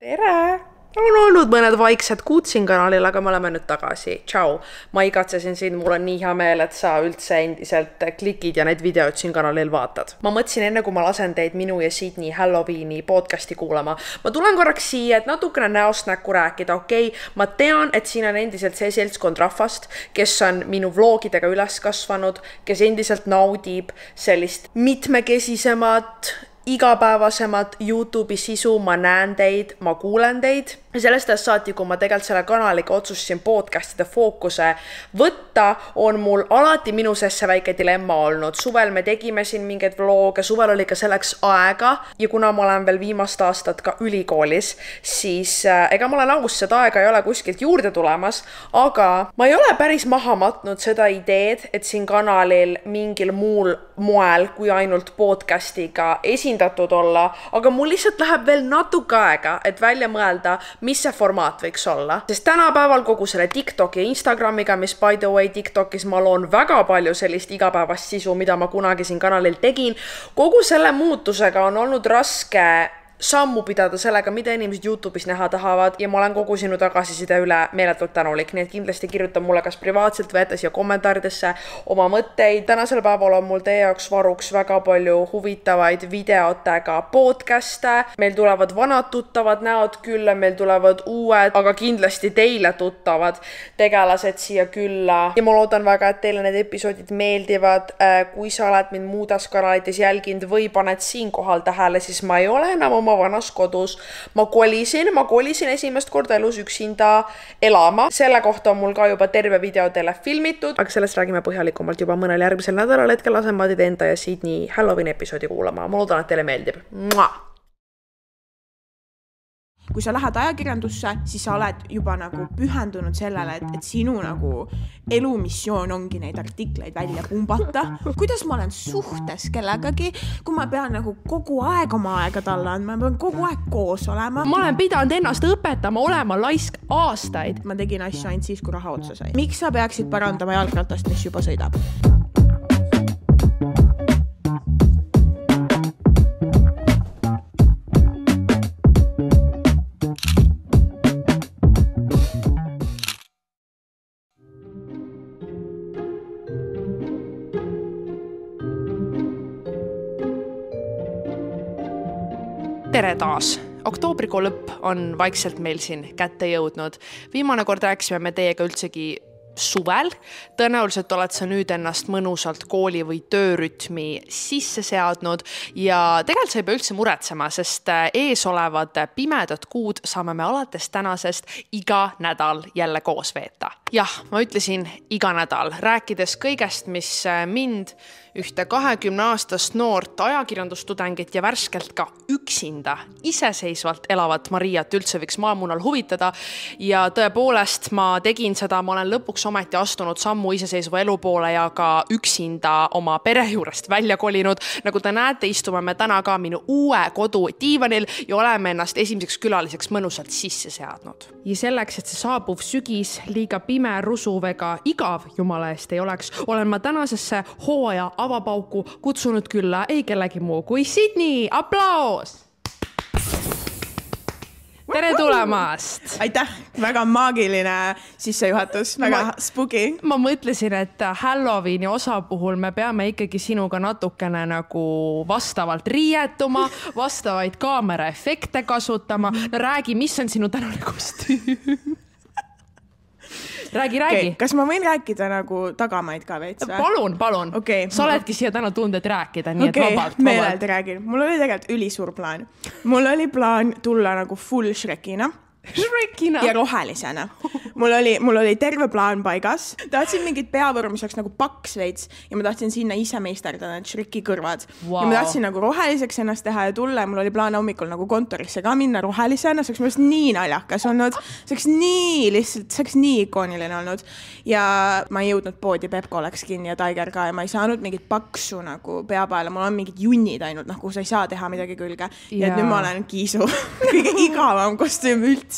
Tere! On olnud mõned vaiksed kuud siin kanalil, aga me oleme nüüd tagasi. Tšau! Ma igatsesin sind, mul on nii hea meel, et sa üldse endiselt klikid ja need videod siin kanalil vaatad. Ma mõtlesin enne, kui ma lasen teid minu ja Sydney Halloweeni podcasti kuulama. Ma tulen korraks siia, et natukene näost näkku rääkida, okei? Ma tean, et siin on endiselt see seltskond rahvast, kes on minu vlogidega üles kasvanud, kes endiselt naudib sellist mitmekesisemat, igapäevasemat YouTube'i sisu, ma näen teid, ma kuulen teid. Ja sellest saati, kui ma tegelikult selle kanaliga otsustasin podcastide fookuse võtta, on mul alati minu sees see väike dilemma olnud. Suvel me tegime siin mingeid vloge, suvel oli ka selleks aega ja kuna ma olen veel viimast aastat ka ülikoolis, siis ega ma olen august seda aega ei ole kuskilt juurde tulemas, aga ma ei ole päris maha matnud seda ideed, et siin kanalil mingil muul moel kui ainult podcastiga esindatud olla, aga mul lihtsalt läheb veel natuke aega, et välja mõelda, mis see formaat võiks olla. Sest tänapäeval kogu selle TikToki ja Instagramiga, mis by the way TikTokis ma loon väga palju sellist igapäevast sisu, mida ma kunagi siin kanalil tegin, kogu selle muutusega on olnud raske sammu pidada sellega, mida inimesed YouTube'is näha tahavad ja ma olen kogu sinu tagasiside üle meeletult tänulik, nii et kindlasti kirjuta mulle kas privaatselt või jätta siia kommentaaridesse oma mõtteid. Tänasel päeval on mul teie jaoks varuks väga palju huvitavaid videotega podcaste. Meil tulevad vanad tuttavad näod külla, meil tulevad uued, aga kindlasti teile tuttavad tegelased siia külla. Ja ma loodan väga, et teile need episoodid meeldivad. Kui sa oled mind muudas kanalites jälginud või paned siin kohal tähele, siis ma ei ole enam oma vanas kodus. Ma kolisin esimest korda elus üksinda elama. Selle kohta on mul ka juba terve video teile filmitud, aga sellest räägime põhjalikumalt juba mõnel järgmisel nädalal. Hetkel lasen ma teid enda ja Sydney Halloween episoodi kuulama. Ma loodan, et teile meeldib. Kui sa lähed ajakirjandusse, siis sa oled juba nagu pühendunud sellele, et sinu nagu elumissioon ongi neid artikleid välja pumbata. Kuidas ma olen suhtes kellegagi, kui ma pean nagu kogu aeg oma aega talle andma, ma pean kogu aeg koos olema. Ma olen pidanud ennast õpetama olema laisk aastaid. Ma tegin asju ainult siis, kui raha otsa sai. Miks sa peaksid parandama jalgratast, mis juba sõidab? Tere taas! Oktoobrikuu lõpp on vaikselt meil siin kätte jõudnud. Viimane kord rääkisime me teiega üldsegi suvel. Tõenäoliselt oled sa nüüd ennast mõnusalt kooli või töörütmi sisse seadnud ja tegelikult sa ei pea üldse muretsema, sest ees olevad pimedad kuud saame me alates tänasest iga nädal jälle koos veeta. Jah, ma ütlesin iga nädal, rääkides kõigest, mis mind ühte 20-aastast noort ajakirjandustudengit ja värskelt ka üksinda iseseisvalt elavat Mariat üldse võiks maamunal huvitada. Ja tõepoolest ma tegin seda, ma olen lõpuks ometi astunud sammu iseseisva elu poole ja ka üksinda oma pere juurest välja kolinud. Nagu te näete, istume me täna ka minu uue kodu diivanil ja oleme ennast esimeseks külaliseks mõnusalt sisse seadnud. Ja selleks, et see saabuv sügis liiga pime, rusuv ega igav jumala eest ei oleks, olen ma tänasesse hooaja avapauku kutsunud külla ei kellegi muu kui Sydney. Aplaus! Tere tulemast! Aitäh! Väga maagiline sissejuhatus, väga spooky. Ma mõtlesin, et Halloweeni osa puhul me peame ikkagi sinuga natukene nagu vastavalt riietuma, vastavaid kaameraefekte kasutama. No räägi, mis on sinu tänane kostüüm? Räägi. Okay. Kas ma võin rääkida nagu tagamaid ka veits? Palun. Okay. Sa oledki siia täna tunded rääkida, nii et vabalt. Meelelt räägin. Mul oli tegelikult ülisuur plaan. Mul oli plaan tulla nagu full Shrekina. Ja rohelisena. Mul oli terve plaan paigas. Tahtsin mingit peavõru, mis oleks nagu paks veits ja ma tahtsin sinna ise meisterdada need Shreki kõrvad. Wow. Ja ma tahtsin nagu roheliseks ennast teha ja tulla ja mul oli plaan hommikul nagu kontorisse ka minna rohelisena. See oleks mõnest nii naljakas olnud. See oleks nii ikooniline olnud. Ja ma ei jõudnud poodi, Pepko oleks kinni ja Tiger ka ja ma ei saanud mingit paksu nagu pea peale. Mul on mingid junnid ainult, nagu sa ei saa teha midagi külge. Ja nüüd ma olen Kiisu. Kõige igavam kostüüm üldse.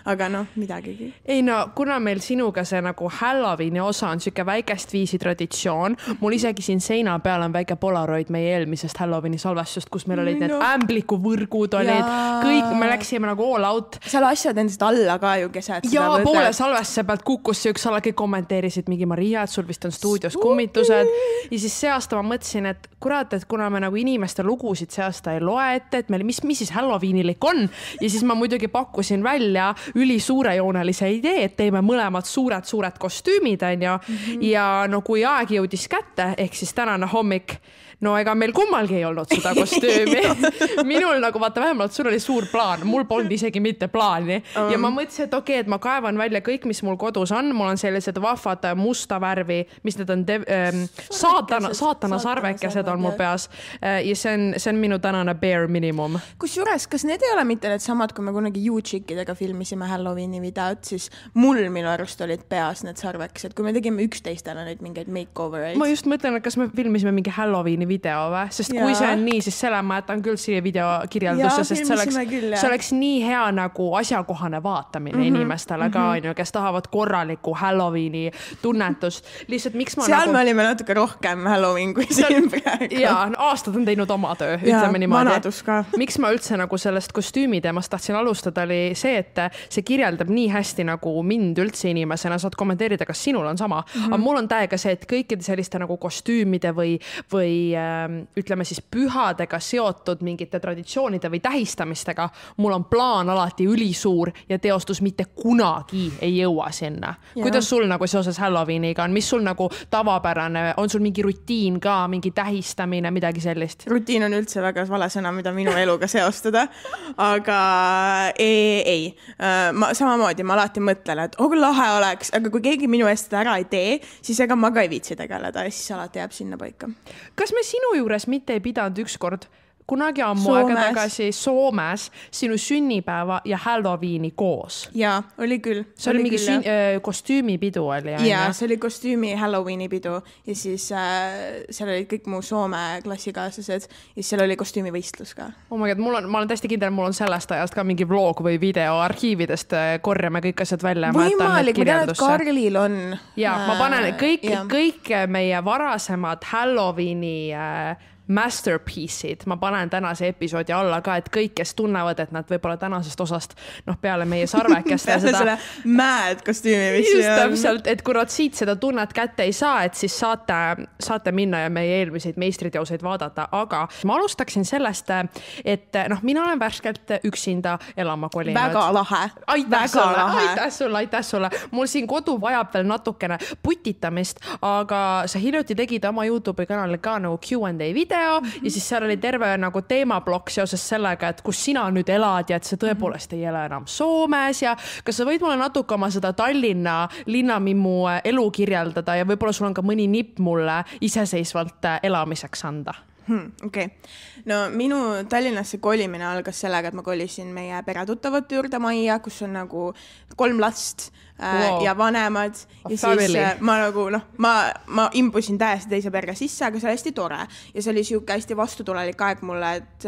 Aga noh, midagigi. Ei no, no kuna meil sinuga see nagu Halloweeni osa on siuke väikest viisi traditsioon, mul isegi siin seina peal on väike Polaroid meie eelmisest Halloweeni salvestust, kus meil olid need ämblikuvõrgud olid, kõik, me läksime nagu all out. Seal asjad endast alla ka ju keset. Ja poole salvestuse pealt kukkus see üks ala, kõik kommenteerisid mingi Maria, et sul vist on stuudios kummitused. Ja siis see aasta ma mõtlesin, et kurat, et kuna me nagu inimeste lugusid see aasta ei loe ette, et meil mis siis Halloweenilik on. Ja siis ma muidugi pakkusin välja ülisuurejoonelise idee, et teeme mõlemad suured kostüümid, ja no kui aeg jõudis kätte, ehk siis tänane hommik, no ega meil kummalgi ei olnud seda kostüümi. Minul nagu vaata vähemalt sul oli suur plaan, mul polnud isegi mitte plaani. Ja ma mõtlesin, et okei, et ma kaevan välja kõik, mis mul kodus on. Mul on sellised vahvad musta värvi, mis need on saatana sarvekesed on mul peas. Ja see on minu tänane bare minimum. Kusjuures, kas need ei ole mitte need samad, kui me kunagi YouChickidega filmisime Halloweeni videot, siis mul minu arust olid peas need sarvekesed, kui me tegime üksteistele neid mingeid makeovereid. Ma just mõtlen, et kas me filmisime mingi Halloweeni video või? Sest kui see on nii, siis selle ma jätan küll siia video kirjeldusse, sest see oleks nii hea nagu asjakohane vaatamine inimestele ka, kes tahavad korralikku Halloweeni tunnetust. Lihtsalt miks ma seal me olime natuke rohkem Halloween kui siin praegu. Jaa, aastad on teinud oma töö, ütleme niimoodi. Vanadus ka. Miks ma üldse nagu sellest kostüümi teemast tahtsin alustada oli see, et see kirjeldab nii hästi nagu mind üldse inimesena, saad kommenteerida, kas sinul on sama. Aga mul on täiega see, et kõikide selliste nagu kostüümide või ütleme siis pühadega seotud mingite traditsioonide või tähistamistega, mul on plaan alati ülisuur ja teostus mitte kunagi ei jõua sinna. Kuidas sul nagu seoses Halloweeniga on? Mis sul nagu tavapärane? On sul mingi rutiin ka, mingi tähistamine, midagi sellist? Rutiin on üldse väga vale sõna, mida minu eluga seostada. Aga ei. Samamoodi ma alati mõtlen, et lahe oleks, aga kui keegi minu eest seda ära ei tee, siis ega ma ka ei viitsi tegeleda ja siis alati jääb sinna paika. Kas me sinu juures mitte ei pidanud ükskord kunagi ammu aega tagasi Soomes sinu sünnipäeva ja Halloweeni koos? Jaa, oli küll. See oli mingi kostüümipidu oli. Jaa, see oli kostüümi Halloweeni pidu ja siis seal olid kõik mu Soome klassikaaslased ja siis seal oli kostüümivõistlus ka. Oh my God, ma olen täiesti kindel, mul on sellest ajast ka mingi vlog või video arhiividest korjame kõik asjad välja. Võimalik, ma tean, et Karlil on. Jaa, ma panen kõik meie varasemad Halloweeni masterpiece'id, ma panen tänase episoodi alla ka, et kõik, kes tunnevad, et nad võib-olla tänasest osast peale meie sarvekest peale selle mad kostüümi, mis just täpselt, et kui nad siit seda tunnet kätte ei saa, et siis saate minna ja meie eelmiseid meistriteoseid vaadata, aga ma alustaksin sellest, et mina olen värskelt üksinda elama kolinud. Väga lahe. Aitäh sulle. Mul siin kodu vajab veel natukene putitamist, aga sa hiljuti tegid oma YouTube'i kanalil ka nagu Q&A video ja siis seal oli terve nagu teemablokk seoses sellega, et kus sina nüüd elad ja et sa tõepoolest ei ela enam Soomes ja kas sa võid mulle natuke oma seda Tallinna linnamimmu elu kirjeldada ja võib-olla sul on ka mõni nipp mulle iseseisvalt elamiseks anda? Okay. No minu Tallinnasse kolimine algas sellega, et ma kolisin meie peretuttavate juurde majja, kus on nagu 3 last ja vanemad ja siis ma nagu ma imbusin täiesti teise perre sisse, aga see oli hästi tore ja see oli siuke hästi vastutulelik aeg mulle, et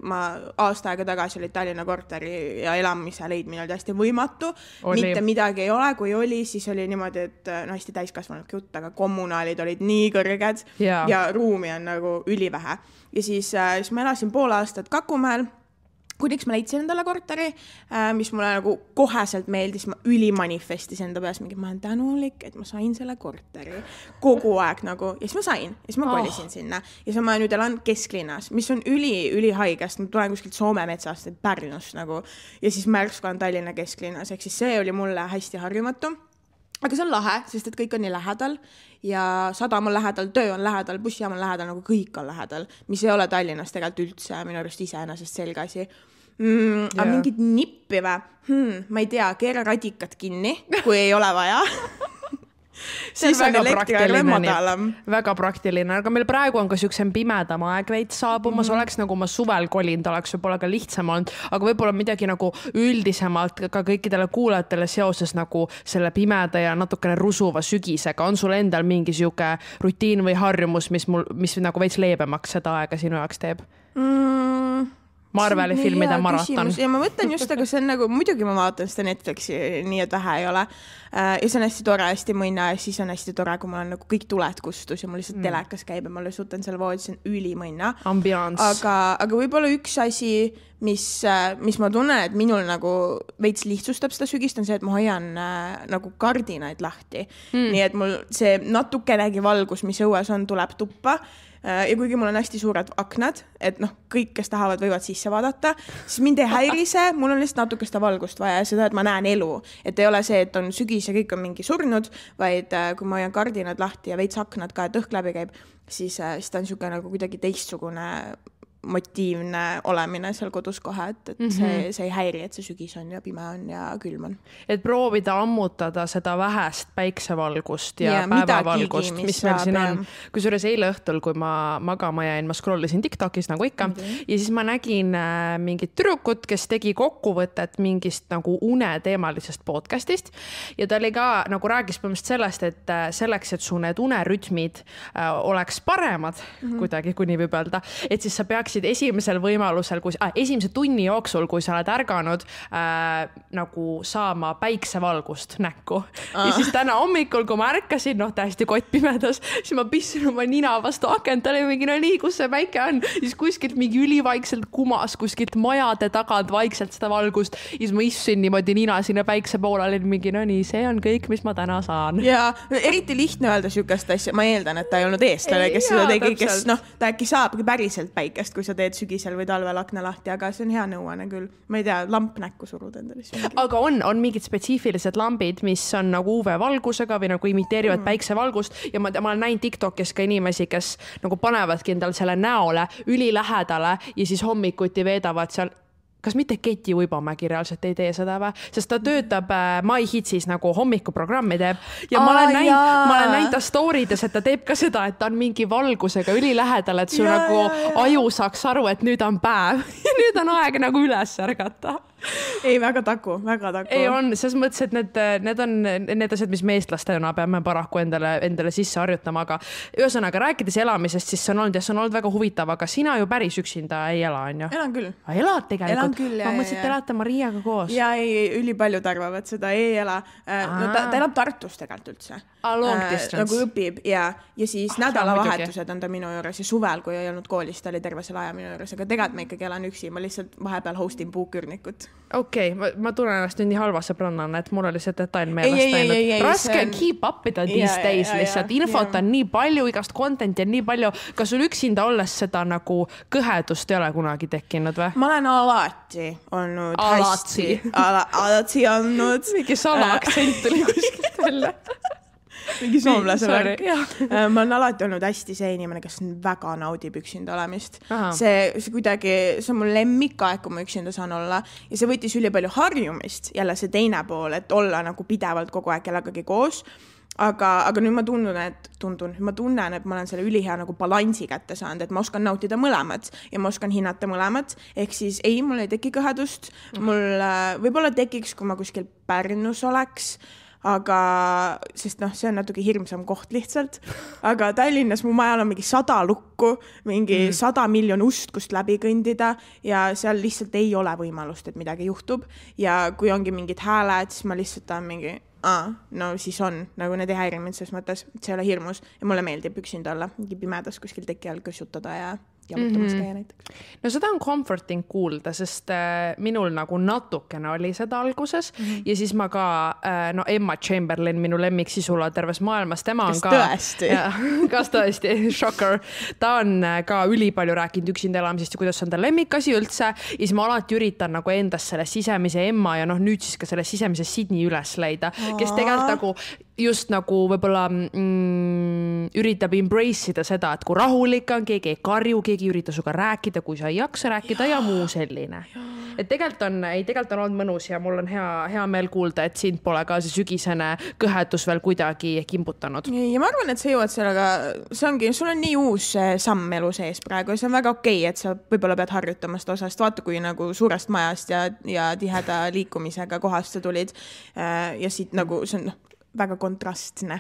ma aasta aega tagasi oli Tallinna korteri ja elamise leidmine oli hästi võimatu, mitte midagi ei ole, kui oli, siis oli niimoodi, et hästi täiskasvanud jutt, aga kommunaalid olid nii kõrged ja ruumi on nagu ülivähe ja siis ma elasin pool aastat Kakumäel, kuniks ma leidsin endale korteri, mis mulle nagu koheselt meeldis, ma ülimanifestis enda peas mingi, ma olen tänulik, et ma sain selle korteri kogu aeg nagu, ja siis ma sain, ja siis ma kolisin sinna ja siis ma nüüd elan kesklinnas, mis on ülihaigest, ma tulen kuskilt Soome metsast, Pärnust nagu ja siis märsku on Tallinna kesklinnas, ehk siis see oli mulle hästi harjumatu. Aga see on lahe, sest et kõik on nii lähedal ja sadam on lähedal, töö on lähedal, bussijaam on lähedal, nagu kõik on lähedal, mis ei ole Tallinnas tegelikult üldse minu arust iseenesest selge asi. Aga mingid nippi või? Ma ei tea, keera radikat kinni, kui ei ole vaja. Siis on elektriga madalam. Väga praktiline, aga meil praegu on ka siuksem pimedam aeg veits saabumas, oleks nagu ma suvel kolinud, oleks võib-olla ka lihtsam olnud, aga võib-olla midagi nagu üldisemalt ka kõikidele kuulajatele seoses nagu selle pimeda ja natukene rusuva sügisega. On sul endal mingi siuke rutiin või harjumus, mis nagu veits leebemaks seda aega sinu jaoks teeb? Marveli filmide maraton. Ja ma mõtlen just, aga see on nagu, muidugi ma vaatan seda Netflixi, nii et vähe ei ole. Ja see on hästi tore, hästi mõnna ja siis on hästi tore, kui mul on nagu kõik tuled kustus ja mul lihtsalt telekas käib ja ma suutan selle voodis, see on ülimõnna. Ambiance. Aga võib-olla üks asi, mis ma tunnen, et minul nagu veits lihtsustab seda sügist, on see, et ma hoian nagu kardinaid lahti. Nii et mul see natukenegi valgus, mis õues on, tuleb tuppa. Ja kuigi mul on hästi suured aknad, et kõik, kes tahavad, võivad sisse vaadata, siis mind ei häirise, mul on lihtsalt natuke seda valgust vaja ja seda, et ma näen elu. Et ei ole see, et on sügis ja kõik on mingi surnud, vaid kui ma hoian kardinad lahti ja veits aknad ka, et õhk läbi käib, siis ta on siuke nagu kuidagi teistsugune motiivne olemine seal kodus kohe, et see ei häiri, et see sügis on ja pime on ja külm on. Et proovida ammutada seda vähest päiksevalgust ja päevavalgust, mis meil siin on. Kusjuures eile õhtul, kui ma magama jäin, ma scrollisin TikTokis nagu ikka ja siis ma nägin mingit tüdrukut, kes tegi kokkuvõtet mingist nagu uneteemalisest podcastist ja ta oli ka nagu rääkis põhimõtteliselt sellest, et selleks, et su need unerütmid oleks paremad kuidagi, kui nii võib öelda, et siis sa peaksid esimesel võimalusel, esimese tunni jooksul, kui sa oled ärganud nagu saama päiksevalgust näkku. Ja siis täna hommikul, kui ma ärkasin, täiesti kottpimedas, siis ma pissin oma nina vastu akent, oli mingi, nii, kus see päike on. Siis kuskilt mingi ülivaikselt kumas, kuskilt majade tagant vaikselt seda valgust. Ja siis ma issin niimoodi nina sinna päikse poole, olin mingi, nii, see on kõik, mis ma täna saan. Ja eriti lihtne öelda sükast asja. Ma eeldan, et ta ei olnud eestlane, kes seda tegi, kes ta äkki saabki päriselt päikest, kui sa teed sügisel või talvel akna lahti, aga see on hea nõuane küll. Ma ei tea, lamp näkku surud endale. Aga on mingid spetsiifilised lambid, mis on nagu UV-valgusega või nagu imiteerivad päiksevalgust ja ma olen näinud TikTokis ka inimesi, kes nagu panevadki endal selle näole ülilähedale ja siis hommikuti veedavad seal. Kas mitte Keti Uibomägi reaalselt ei tee seda või? Sest ta töötab MyHitsis nagu hommikuprogrammi teeb ja ma olen näinud ta storydes, et ta teeb ka seda, et ta on mingi valgusega ülilähedal, et su nagu aju saaks aru, et nüüd on päev ja nüüd on aeg nagu üles ärgata. Ei, väga taku. Ei on, selles mõttes, et need on need asjad, mis me eestlastena peame paraku endale sisse harjutama, aga ühesõnaga rääkides elamisest, siis see on olnud väga huvitav, aga sina ju päris üksinda ei ela, on ju? Elan küll. Elad tegelikult? Ma mõtlesin, et elate Mariaga koos. Ja ülipaljud arvavad seda, ei ela. Ta elab Tartus tegelikult üldse. Long distance. Nagu õpib ja siis nädalavahetused on ta minu juures ja suvel, kui ei olnud koolis, ta oli terve selle aja minu juures, aga tegelikult ma ikkagi elan üksi, ma lihtsalt vahepeal hostin puukürnikut. Okei, ma tunnen ennast nüüd nii halva sõbrannana, et mul oli see detail meelest läinud. Raske on keep upida these days lihtsalt. Infot on nii palju, igast contenti on nii palju. Kas sul üksinda olles seda nagu kõhedust ei ole kunagi tekkinud või? Ma olen alati olnud hästi. Alati olnud. Mingi salaaktsent tuli kuskilt välja. Mingi soomlase värk. Ma olen alati olnud hästi see inimene, kes väga naudib üksinda olemist. See kuidagi, see on mul lemmikaeg, kui ma üksinda saan olla ja see võttis üli palju harjumist, jälle see teine pool, et olla nagu pidevalt kogu aeg kellegagi koos. Aga nüüd ma tunnen, et ma olen selle ülihea nagu balansi kätte saanud, et ma oskan nautida mõlemad ja ma oskan hinnata mõlemad. Ehk siis ei, mul ei teki kõhedust. Mul võib-olla tekiks, kui ma kuskil Pärnus oleks, aga sest see on natuke hirmsam koht lihtsalt, aga Tallinnas mu majal on mingi 100 lukku, mingi 100 miljon ust, kust läbi kõndida ja seal lihtsalt ei ole võimalust, et midagi juhtub ja kui ongi mingid hääled, siis ma lihtsalt on mingi no siis on, nagu need ei häiri mind selles mõttes, et see ei ole hirmus ja mulle meeldib üksinda olla, mingi pimedas kuskil teki all kõssutada ja jamutamas käia näiteks. No seda on comforting kuulda, sest minul nagu natukene oli seda alguses ja siis ma ka, Emma Chamberlain, minu lemmiksisula terves maailmas, tema on kas tõesti, shocker. Ta on ka ülipalju rääkinud üksinda elamisest ja kuidas on ta lemmikasi üldse ja siis ma alati üritan nagu endas selle sisemise Emma ja nüüd siis ka selle sisemise Sydney üles leida, kes tegelikult nagu just nagu võib-olla üritab embrace ida seda, et kui rahulik on, keegi ei karju, keegi ürita suga rääkida, kui sa ei jaksa rääkida ja muu selline. Et tegelikult on olnud mõnus ja mul on hea meel kuulda, et sind pole ka see sügisene kõhedus veel kuidagi kimbutanud. Ja ma arvan, et sa jõuad sellega, sul on nii uus samm elu sees praegu ja see on väga okei, et sa võib-olla pead harjutama seda osast. Vaata, kui nagu suurest majast ja tiheda liikumisega kohast sa tulid ja siit nagu see on väga kontrastne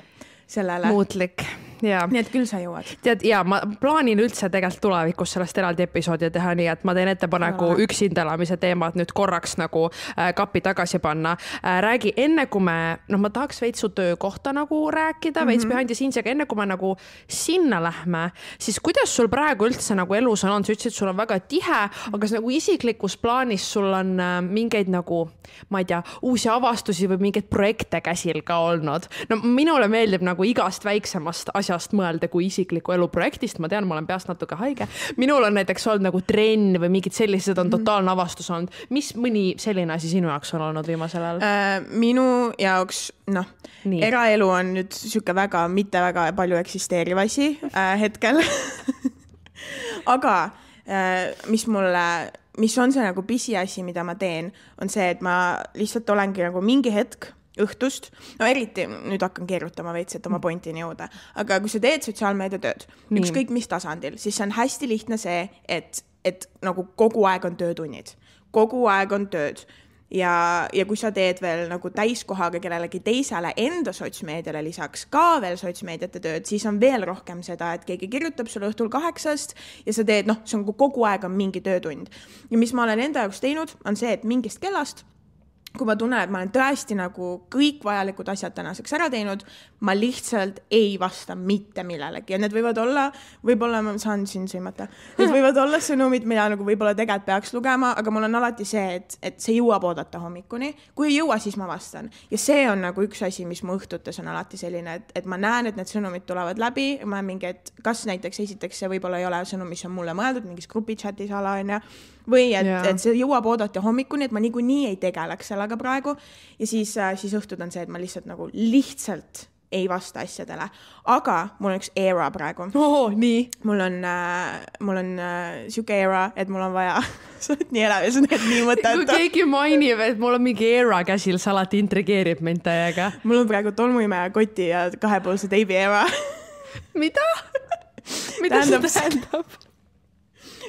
sellele. Muutlik. nii et küll sa jõuad. Tead, ja ma plaanin üldse tegelikult tulevikus sellest eraldi episoodi teha, nii et ma teen ettepaneku üksinda elamise teemad nüüd korraks nagu kapi tagasi panna. Räägi enne, kui me, ma tahaks veits su töökohta nagu rääkida, veits behind the scenes, aga enne, kui me nagu sinna lähme, siis kuidas sul praegu üldse nagu elus on? Sa ütlesid, sul on väga tihe, aga nagu isiklikus plaanis sul on mingeid nagu, ma ei tea, uusi avastusi või mingeid projekte käsil ka olnud. No minule meeldib nagu igast väiksemast asjast mõelda kui isikliku elu projektist. Ma tean, ma olen peast natuke haige. Minul on näiteks olnud nagu trenn või mingid sellised on totaalne avastus olnud. Mis mõni selline asi sinu jaoks on olnud viimasel ajal? Minu jaoks, eraelu on nüüd siuke väga, mitte väga palju eksisteeriv asi hetkel. Aga mis on see nagu pisiasi, mida ma teen, on see, et ma lihtsalt olengi nagu mingi hetk õhtust, eriti nüüd hakkan keerutama veits, et oma pointini jõuda, aga kui sa teed sotsiaalmeediatööd, ükskõik mis tasandil, siis see on hästi lihtne see, et nagu kogu aeg on töötunnid, kogu aeg on tööd ja kui sa teed veel nagu täiskohaga kellelegi teisele enda sotsmeediale lisaks ka veel sotsmeediate tööd, siis on veel rohkem seda, et keegi kirjutab sulle õhtul 8 ja sa teed, see on kogu aeg on mingi töötund. Ja mis ma olen enda jaoks teinud, on see, et mingist kellast kui ma tunnen, et ma olen tõesti nagu kõik vajalikud asjad tänaseks ära teinud, ma lihtsalt ei vasta mitte millelegi. Ja need võivad olla, võib-olla ma saan siin sõimata, need võivad olla sõnumid, mida nagu võib-olla tegelikult peaks lugema, aga mul on alati see, et see jõuab oodata hommikuni. Kui ei jõua, siis ma vastan. Ja see on nagu üks asi, mis mu õhtutes on alati selline, et ma näen, et need sõnumid tulevad läbi. Ma mingi, et kas näiteks esiteks see võib-olla ei ole sõnum, mis on mulle mõeldud, mingis grupichatis ala on ja või et see jõuab oodata hommikuni, et ma niikuinii ei tegeleks sellega praegu ja siis õhtud on see, et ma lihtsalt ei vasta asjadele. Aga mul on üks era praegu. Nii. Mul on siuke era, et mul on vaja sa oled nii elav ja sa oled nii mõtet. Kui keegi mainib, et mul on mingi era käsil, sa alati intrigeerib mind täiega. Mul on praegu tolmuimeja koti ja 2-poolse teibi era. Mida? Mida see tähendab?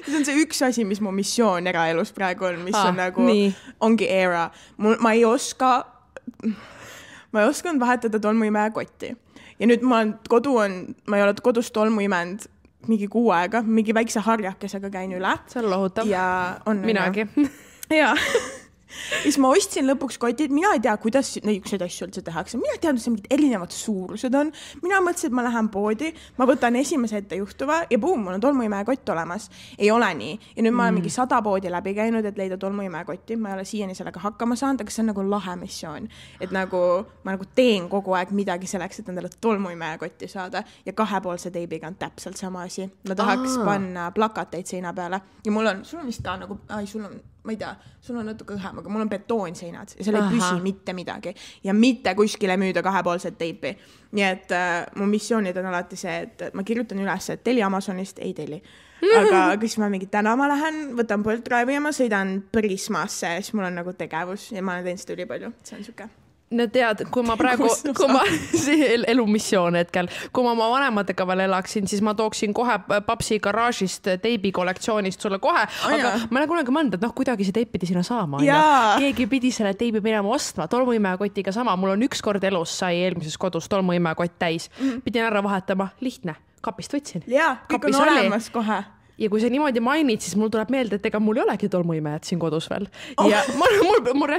See on see üks asi, mis mu missioon eraelus praegu on, mis on nagu, ongi era. Ma ei osanud vahetada tolmuimeja kotti. Ja nüüd ma ei ole kodus tolmu imenud mingi 6 aega, mingi väikse harjakesega käin üle. See on lohutav. Ja on minagi. Jaa. Siis ma ostsin lõpuks kotid, mina ei tea, kuidas neid asju üldse tehakse. Mina ei tea, mis mingid erinevad suurused on. Mina mõtlesin, et ma lähen poodi, ma võtan esimese ette juhtuva ja boom, mul on tolmuimeja kott olemas. Ei ole nii. Ja nüüd ma olen mingi 100 poodi läbi käinud, et leida tolmuimeja kotti. Ma ei ole siiani sellega hakkama saanud, aga see on nagu lahe missioon. Et nagu ma nagu teen kogu aeg midagi selleks, et endale tolmuimeja kotti saada. Ja 2-poolse teibiga on täpselt sama asi. Ma tahaks panna plakateid seina peale. Ja sul on vist ka nagu, ma ei tea, sul on natuke õhem, aga mul on betoonseinad ja seal ei püsi mitte midagi ja mitte kuskile müüda 2-poolset teipi. Nii et mu missioonid on alati see, et ma kirjutan üles, et teli Amazonist, ei teli. Aga kui ma mingi täna ma lähen, võtan Bolt Drive'i ja ma sõidan Prismasse, siis mul on nagu tegevus ja ma olen teinud seda ülipalju. See on suke. No tead, kui ma praegu, elumissioon hetkel, kui ma oma vanematega veel elaksin, siis ma tooksin kohe papsi garaažist teibi kollektsioonist sulle kohe, aga ma olen kunagi mõelnud, et kuidagi see teip pidi sinna saama. Keegi pidi selle teibi minema ostma, tolmuimeja kotiga sama. Mul on üks kord elus sai eelmises kodus tolmuimeja kott täis. Pidin ära vahetama, lihtne, kapist võtsin. Jaa, kõik on olemas kohe. Ja kui sa niimoodi mainid, siis mul tuleb meelde, et ega mul ei olegi tolmuimejad siin kodus veel. Ja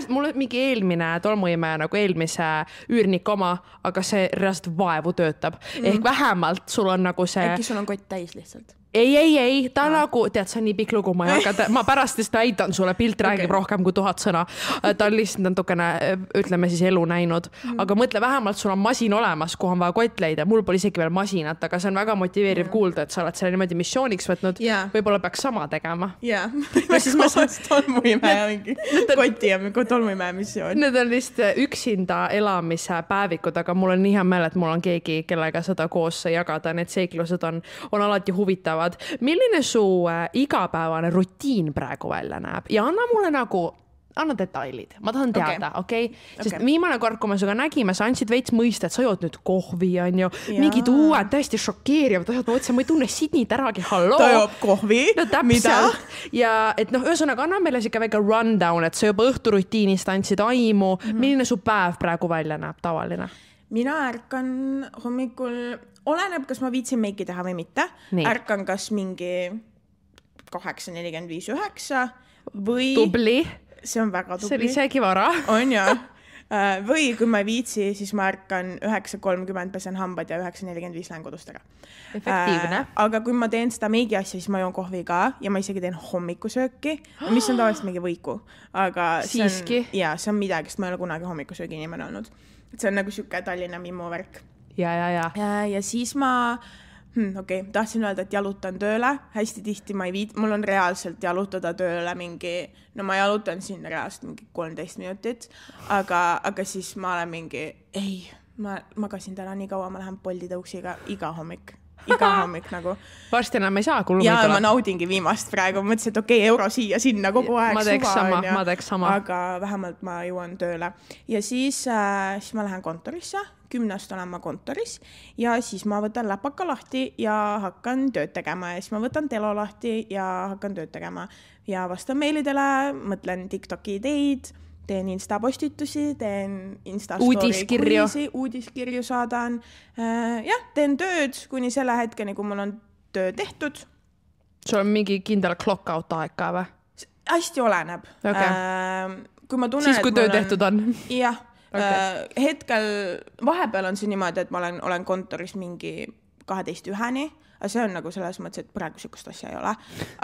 mul mingi eelmine tolmuimeja nagu eelmise üürnik oma, aga see reast vaevu töötab. Ehk vähemalt sul on nagu see... Äkki sul on kott täis lihtsalt? Ei, ta nagu, tead, see on nii pikk lugu, ma pärast seda näitan sulle, pilt räägib rohkem kui 1000 sõna. Ta on lihtsalt natukene, ütleme siis elu näinud, aga mõtle, vähemalt sul on masin olemas, kuhu on vaja kott leida. Mul pole isegi veel masinat, aga see on väga motiveeriv kuulda, et sa oled selle niimoodi missiooniks võtnud. Võib-olla peaks sama tegema. Jaa, tolmuimeja mingi koti ja tolmuimeja missioon. Need on lihtsalt üksinda elamise päevikud, aga mul on nii hea meel, et mul on keegi, kellega seda koos jagada. Need seiklused on alati huvitav. Milline su igapäevane rutiin praegu välja näeb? Ja anna detailid. Ma tahan teada, okei? Sest viimane kord, kui me suga nägime, sa andsid veits mõista, et sa jood nüüd kohvi, on ju. Mingid uued, täiesti šokeerivad. Ma ütlesin, ma ei tunne Sidnit äragi, halloo. Ta joob kohvi? No täpselt. Ja et ühesõnaga, anna meile siuke väike rundown, et sa juba õhturutiinist andsid aimu. Milline su päev praegu välja näeb tavaline? Mina ärkan hommikul oleneb, kas ma viitsin meiki teha või mitte. Nii. Ärkan kas mingi 8:45, 9 või... Tubli. See on väga tubli. See oli isegi vara. On ja. Või kui ma ei viitsi, siis ma ärkan 9:30 pesen hambad ja 9:45 lähen kodust ära. Efektiivne. Aga kui ma teen seda meigi asja, siis ma joon kohvi ka ja ma isegi teen hommikusööki, mis on tavaliselt mingi võiku. Aga siiski? See on midagi, sest ma ei ole kunagi hommikusöögi inimene olnud. See on nagu siuke Tallinna Mimmu värk. Ja. Ja siis ma... tahtsin öelda, et jalutan tööle. Hästi tihti ma ei viit... Mul on reaalselt jalutada tööle mingi... No ma jalutan siin reaalselt mingi 13 minutit. Aga siis ma olen mingi... Ei, ma magasin täna nii kaua, ma lähen Bolti tõuksiga iga hommik nagu. Varsti enam ei saa, kui ja ma naudingi viimast praegu. Mõtlesin, et euro siia, sinna kogu aeg. Ma teeks sama. Aga vähemalt ma jõuan tööle. Ja siis ma lähen kontorisse. 10 olen ma kontoris ja siis ma võtan läpaka lahti ja hakkan tööd tegema ja siis ma võtan telo lahti ja hakkan tööd tegema ja vastan meilidele, mõtlen TikToki ideid, teen Insta-postitusi, teen Insta-story uudiskirju saadan. Teen tööd kuni selle hetkeni, kui mul on töö tehtud. Sul on mingi kindel clock-out aeg ka või? Hästi oleneb. Kui ma tunnen, siis kui töö tehtud on? Jah. Hetkel vahepeal on see niimoodi, et ma olen kontoris mingi 12:1, aga see on nagu selles mõttes, et praegu sükust asja ei ole.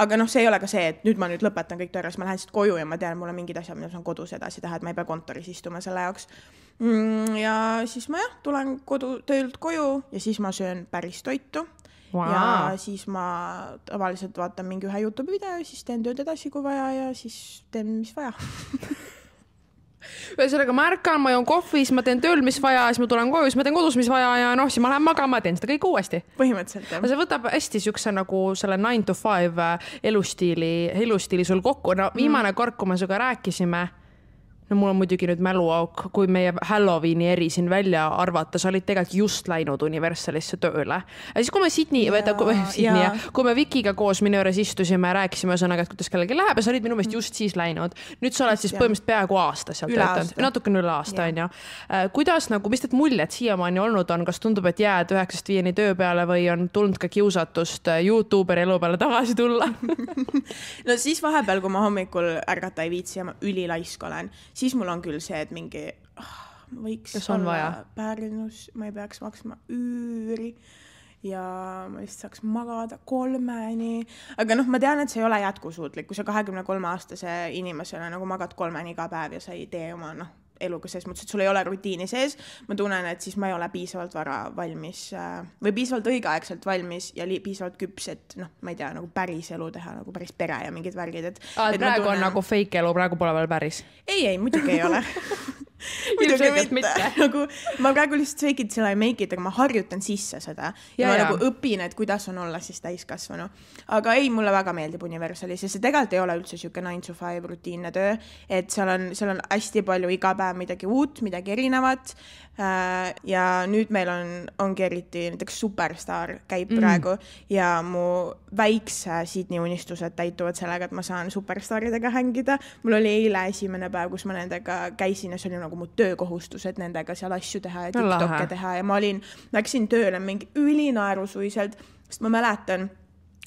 Aga see ei ole ka see, et nüüd ma lõpetan kõik töö, ma lähen siit koju ja ma tean, mul on mingid asjad, mida saan kodus edasi teha, et ma ei pea kontoris istuma selle jaoks. Ja siis ma tulen töölt koju ja siis ma söön päris toitu. Wow. Ja siis ma tavaliselt vaatan mingi ühe YouTube video ja siis teen tööd edasi, kui vaja ja siis teen, mis vaja. Ühesõnaga ma ärkan, ma joon kohvi, siis ma teen tööl, mis vaja, siis ma tulen koju, siis ma teen kodus, mis vaja ja siis ma lähen magama ja teen seda kõik uuesti. Põhimõtteliselt, jah. See võtab hästi siukse nagu selle 9 to 5 elustiili sul kokku. No viimane kord, kui me sinuga rääkisime, no mul on muidugi nüüd mäluauk, kui meie Halloweeni eri siin välja arvata, sa olid tegelikult just läinud Universalisse tööle. Ja siis kui me kui me Vikiga koos minu juures istusime ja rääkisime ühesõnaga, et kuidas kellelgi läheb ja sa olid minu meelest just siis läinud. Nüüd sa oled siis põhimõtteliselt peaaegu aasta seal töötanud. Natukene üle aasta, on ju. Kuidas, mis need muljed siiamaani olnud on? Kas tundub, et jääd 9-5 töö peale või on tulnud ka kiusatust YouTuberi elu peale tagasi tulla? No siis vahepeal, kui ma hommikul ärgata ei viitsi ja ma ülilaisk olen, siis mul on küll see, et mingi võiks olla Pärnus, ma ei peaks maksma üüri ja ma lihtsalt saaks magada 3-ni. Aga ma tean, et see ei ole jätkusuutlik, kui sa 23-aastase inimesele nagu magad 3-ni iga päev ja sa ei tee oma eluga selles mõttes, et sul ei ole rutiini sees. Ma tunnen, et siis ma ei ole piisavalt vara valmis või piisavalt õigeaegselt valmis ja piisavalt küps, et ma ei tea, nagu päris elu teha, nagu päris pere ja mingid värgid. Et praegu on nagu fake elu, praegu pole veel päris? Ei, muidugi ei ole. Muidugi mitte. Nagu, ma praegu lihtsalt fake it till I make it, aga ma harjutan sisse seda. Ja ma nagu õpin, et kuidas on olla siis täiskasvanu. Aga ei, mulle väga meeldib Universalis ja see tegelikult ei ole üldse siuke 9 to 5 rutiinne töö, et seal on hästi palju iga päev midagi uut, midagi erinevat. Ja nüüd meil ongi eriti näiteks Superstar käib praegu ja mu väikse Sydney unistused täituvad sellega, et ma saan Superstaridega hängida. Mul oli eile esimene päev, kus ma nendega käisin ja see oli nagu mu töökohustused nendega seal asju teha ja TikTokke teha ja ma läksin tööle mingi ülinaerusuiselt, sest ma mäletan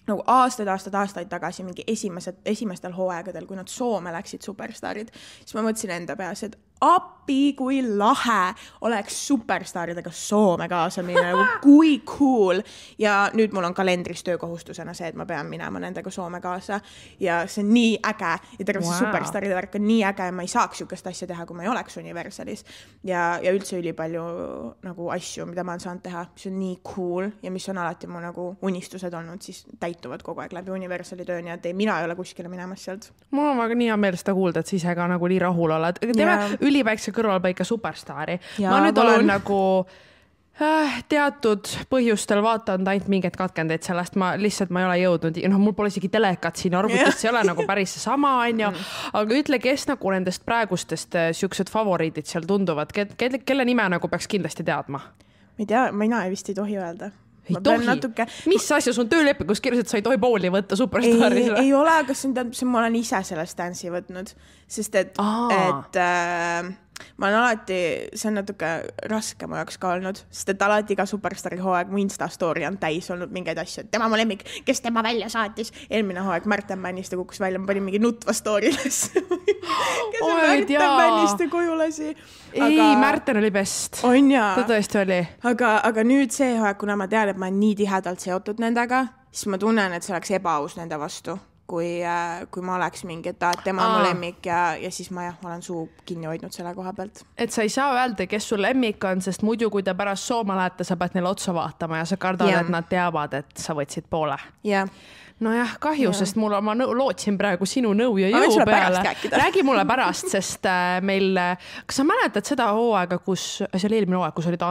nagu aastaid tagasi mingi esimestel hooaegadel, kui nad Soome läksid Superstarid, siis ma mõtlesin enda peas, et appi, kui lahe oleks Superstaridega Soome kaasa minna, nagu kui cool. Ja nüüd mul on kalendris töökohustusena see, et ma pean minema nendega Soome kaasa ja see on nii äge ja terve see Superstaride värk on nii äge ja ma ei saaks siukest asja teha, kui ma ei oleks Universalis ja üldse ülipalju nagu asju, mida ma olen saanud teha, mis on nii cool ja mis on alati mu nagu unistused olnud, siis täituvad kogu aeg läbi Universali töö, nii et mina ei ole kuskile minemas sealt. Mul on väga nii hea meel seda kuulda, et sa ise ka nagu nii rahul oled. Teeme üliväikse kõrvalpaika Superstari. Ma nüüd olen nagu teatud põhjustel vaatanud ainult mingeid katkendeid sellest, ma ei ole jõudnud, mul pole isegi telekat siin arvutist, see ei ole nagu päris sama, aga ütle, kes nagu nendest praegustest siuksed favoriidid seal tunduvad, kelle nime nagu peaks kindlasti teadma? Ma ei tea, mina vist ei tohi öelda. Ei tohi? Mis asja sun töölepingus kirjas, et sa ei tohi pooli võtta Superstaris? Ei ole, aga ma olen ise sellest dance'i võtnud, sest et ma olen alati, see on natuke raske mu jaoks ka olnud, sest et alati iga Superstaari hooaeg mu Insta story on täis olnud mingeid asju, et tema mu lemmik, kes tema välja saatis. Eelmine hooaeg Märten Männiste kukkus välja, ma panin mingi nutva story'les. kes on Märten Männiste koju lasi. Ei, Märten oli best. On jaa. Ta tõesti oli. Aga nüüd see hooaeg, kuna ma tean, et ma olen nii tihedalt seotud nendega, siis ma tunnen, et see oleks ebaaus nende vastu. Kui ma oleks mingi, et tema on mu lemmik ja siis ma olen suu kinni hoidnud selle koha pealt. Et sa ei saa öelda, kes sul lemmik on, sest muidu kui ta pärast sooma lähete, sa pead neile otsa vaatama ja sa kardad, et nad teavad, et sa võtsid poole. Jah. Nojah, kahju, sest ma lootsin praegu sinu nõu ja jõu peale. Räägi mulle pärast, sest meil, kas sa mäletad seda hooaega, see oli eelmine hooaeg, kus olid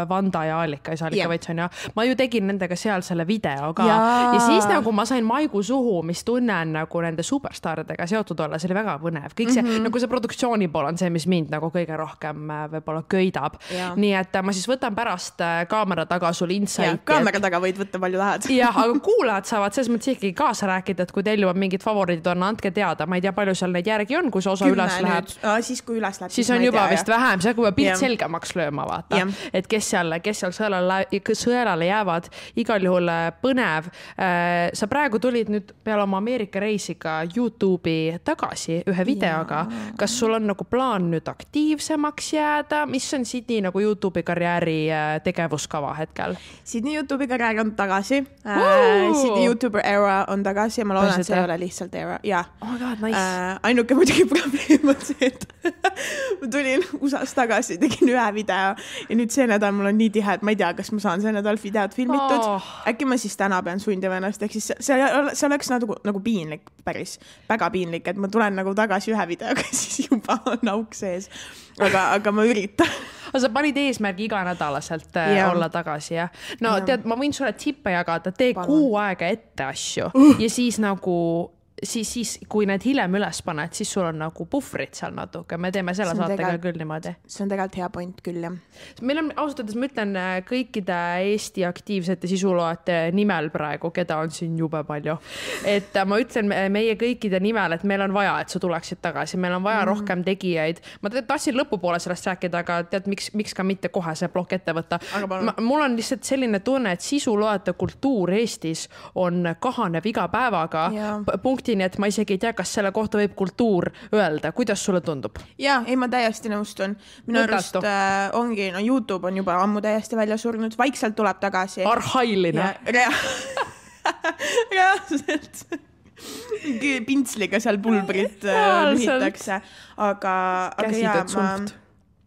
Vanda ja Allika Veits on ja ma ju tegin nendega seal selle video ka ja siis nagu ma sain maigu suhu, mis tunnen nagu nende superstaaridega seotud olla, see oli väga põnev. Kõik see, nagu see produktsiooni pool on see, mis mind nagu kõige rohkem võib-olla köidab. Nii et ma siis võtan pärast kaamera taga sul insight. Kaamera taga võid võtta palju tahad. Jah, aga kuulajad saavad selles mõttes ikkagi kaasa rääkida, et kui teil juba mingid favoriidid on, andke teada. Ma ei tea, palju seal neid järgi on, kui see osa üles läheb. Siis kui üles läheb. Siis on juba vist vähem, see kui pilt selgemaks lööma vaata. Et kes seal sõelale jäävad. Igal juhul põnev. Sa praegu tulid nüüd peale oma Ameerika reisiga YouTube'i tagasi ühe videoga. Kas sul on nagu plaan nüüd aktiivsemaks jääda? Mis on Sydney nagu YouTube'i karjääri tegevuskava hetkel? Sydney YouTube'i karjäär on tagasi. Sydney YouTuber era on tagasi ja ma loodan, et see ei ole lihtsalt era. Oh my god, nice. Ainuke muidugi probleem on see, et ma tulin USA-s tagasi, tegin ühe video ja nüüd see nädal mul on nii tihe, et ma ei tea, kas ma saan see nädal videot filmitud. Äkki ma siis täna pean sundima ennast, ehk siis see oleks nagu piinlik, päris väga piinlik, et ma tulen nagu tagasi ühe videoga, siis juba on auk sees. Aga ma üritan. Aga sa panid eesmärgi iganädalaselt olla tagasi, jah? No tead, ma võin sulle tippe jagada, tee kuu aega ette asju ja siis nagu siis kui need hiljem üles paned, siis sul on nagu puhvrid seal natuke. Me teeme selle saatega küll niimoodi. See on tegelikult hea point küll, jah. Meil on, ausalt öeldes, ma ütlen kõikide Eesti aktiivsete sisuloojate nimel praegu, keda on siin jube palju. Et ma ütlen meie kõikide nimel, et meil on vaja, et sa tuleksid tagasi. Meil on vaja rohkem tegijaid. Ma tahtsin lõpupoole sellest rääkida, aga tead, miks ka mitte kohe see blok ette võtta. Mul on lihtsalt selline tunne, et sisuloojate kultuur Eestis on kahanev iga päevaga. Punktini, et ma isegi ei tea, kas selle kohta võib kultuur öelda. Kuidas sulle tundub? Jaa, ei, ma täiesti nõustun. Minu arust ongi, YouTube on juba ammu täiesti välja surnud. Vaikselt tuleb tagasi. Arhailine. Reaalselt. Pintsliga seal pulbrit lühitakse. Aga käsitööd suht.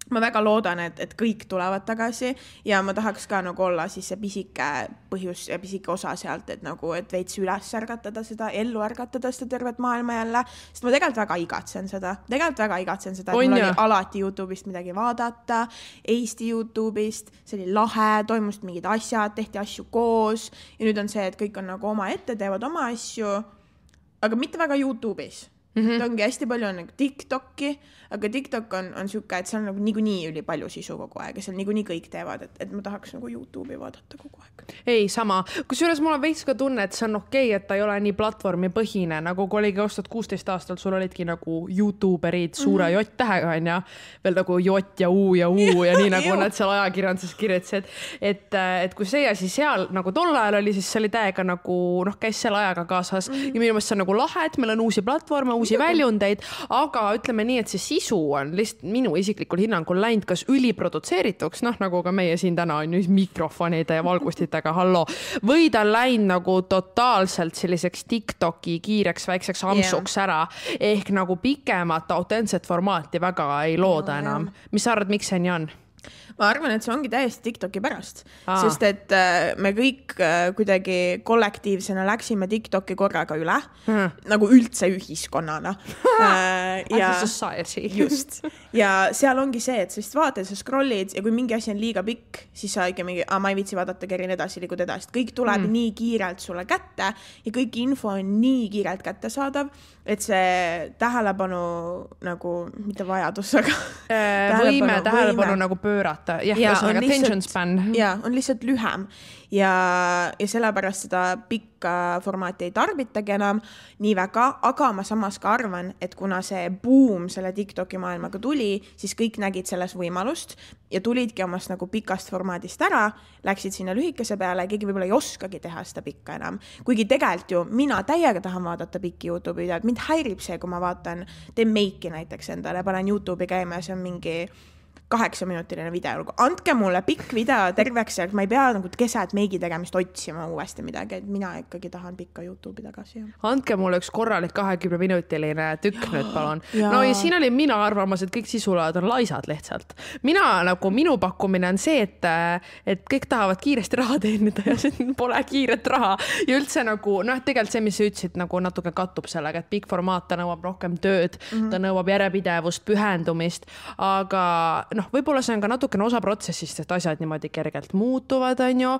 Ma väga loodan, et kõik tulevad tagasi ja ma tahaks ka nagu olla siis see pisike põhjus ja pisike osa sealt, et nagu, et veits üles ärgatada seda, ellu ärgatada seda tervet maailma jälle, sest ma tegelikult väga igatsen seda, et mul oli alati YouTube'ist midagi vaadata, Eesti YouTube'ist, see oli lahe, toimusid mingid asjad, tehti asju koos ja nüüd on see, et kõik on nagu oma ette, teevad oma asju, aga mitte väga YouTube'is. Ongi hästi palju on nagu TikTok'i, aga TikTok on siuke, et seal on nagu niikuinii üli palju sisu kogu aeg ja seal niikuinii kõik teevad, et ma tahaks nagu YouTube'i vaadata kogu aeg. Ei, sama. Kusjuures mul on veits ka tunne, et see on okei, et ta ei ole nii platvormi põhine, nagu kui oligi 2016 aastal, sul olidki nagu YouTuberid suure J-tähega on ja veel nagu J ja U ja nii nagu nad seal ajakirjanduses kirjutasid, et kui see asi seal nagu tol ajal oli, siis see oli täiega nagu, käis selle ajaga kaasas ja minu meelest see on nagu lahe, et meil on uusi platvorme, uusi väljundeid, aga ütleme nii, et see sisu on lihtsalt minu isiklikul hinnangul läinud kas üliprodutseerituks, nagu ka meie siin täna on mikrofonide ja valgustitega, hallo, või ta läinud nagu totaalselt selliseks TikToki kiireks väikseks amsuks ära, ehk nagu pikemat autentset formaati väga ei looda enam. Mis sa arvad, miks see nii on? Ma arvan, et see ongi täiesti TikToki pärast, sest et me kõik kuidagi kollektiivsena läksime TikToki korraga üle, nagu üldse ühiskonnana. Just. Ja seal ongi see, et sa vaatad, sa scrollid ja kui mingi asi on liiga pikk, siis sa ikka mingi, ma ei viitsi vaadata, kerin edasi, liigud edasi. Kõik tuleb nii kiirelt sulle kätte ja kõik info on nii kiirelt kätte saadav, et see tähelepanu nagu, mitte vajadus, aga võime tähelepanu nagu pöörata. Jah, on attention span. Ja, on lihtsalt lühem. Ja sellepärast seda pikka formaati ei tarbitagi enam nii väga, aga ma samas ka arvan, et kuna see buum selle TikToki maailmaga tuli, siis kõik nägid selles võimalust ja tulidki omast nagu pikast formaadist ära, läksid sinna lühikese peale, keegi võib-olla ei oskagi teha seda pikka enam. Kuigi tegelikult ju mina täiega tahan vaadata pikki YouTube videod, mind häirib see, kui ma vaatan, teen meiki näiteks endale, panen YouTube'i käima ja see on mingi 8-minutiline video. Andke mulle pikk video terveks, et ma ei pea nagu keset meigi tegemist otsima uuesti midagi, et mina ikkagi tahan pikka YouTube'i tagasi. Andke mulle üks korralik 20-minutiline tükk nüüd, palun. No ja siin oli mina arvamas, et kõik sisuload on laisad lihtsalt. Minu pakkumine on see, et kõik tahavad kiiresti raha teenida ja see pole kiiret raha. Ja üldse nagu, tegelikult see, mis sa ütlesid, nagu natuke kattub sellega, et pikk formaat, ta nõuab rohkem tööd, ta nõuab järjepidevust, pühendumist, aga võib-olla see on ka natukene osa protsessist, et asjad niimoodi kergelt muutuvad, on ju.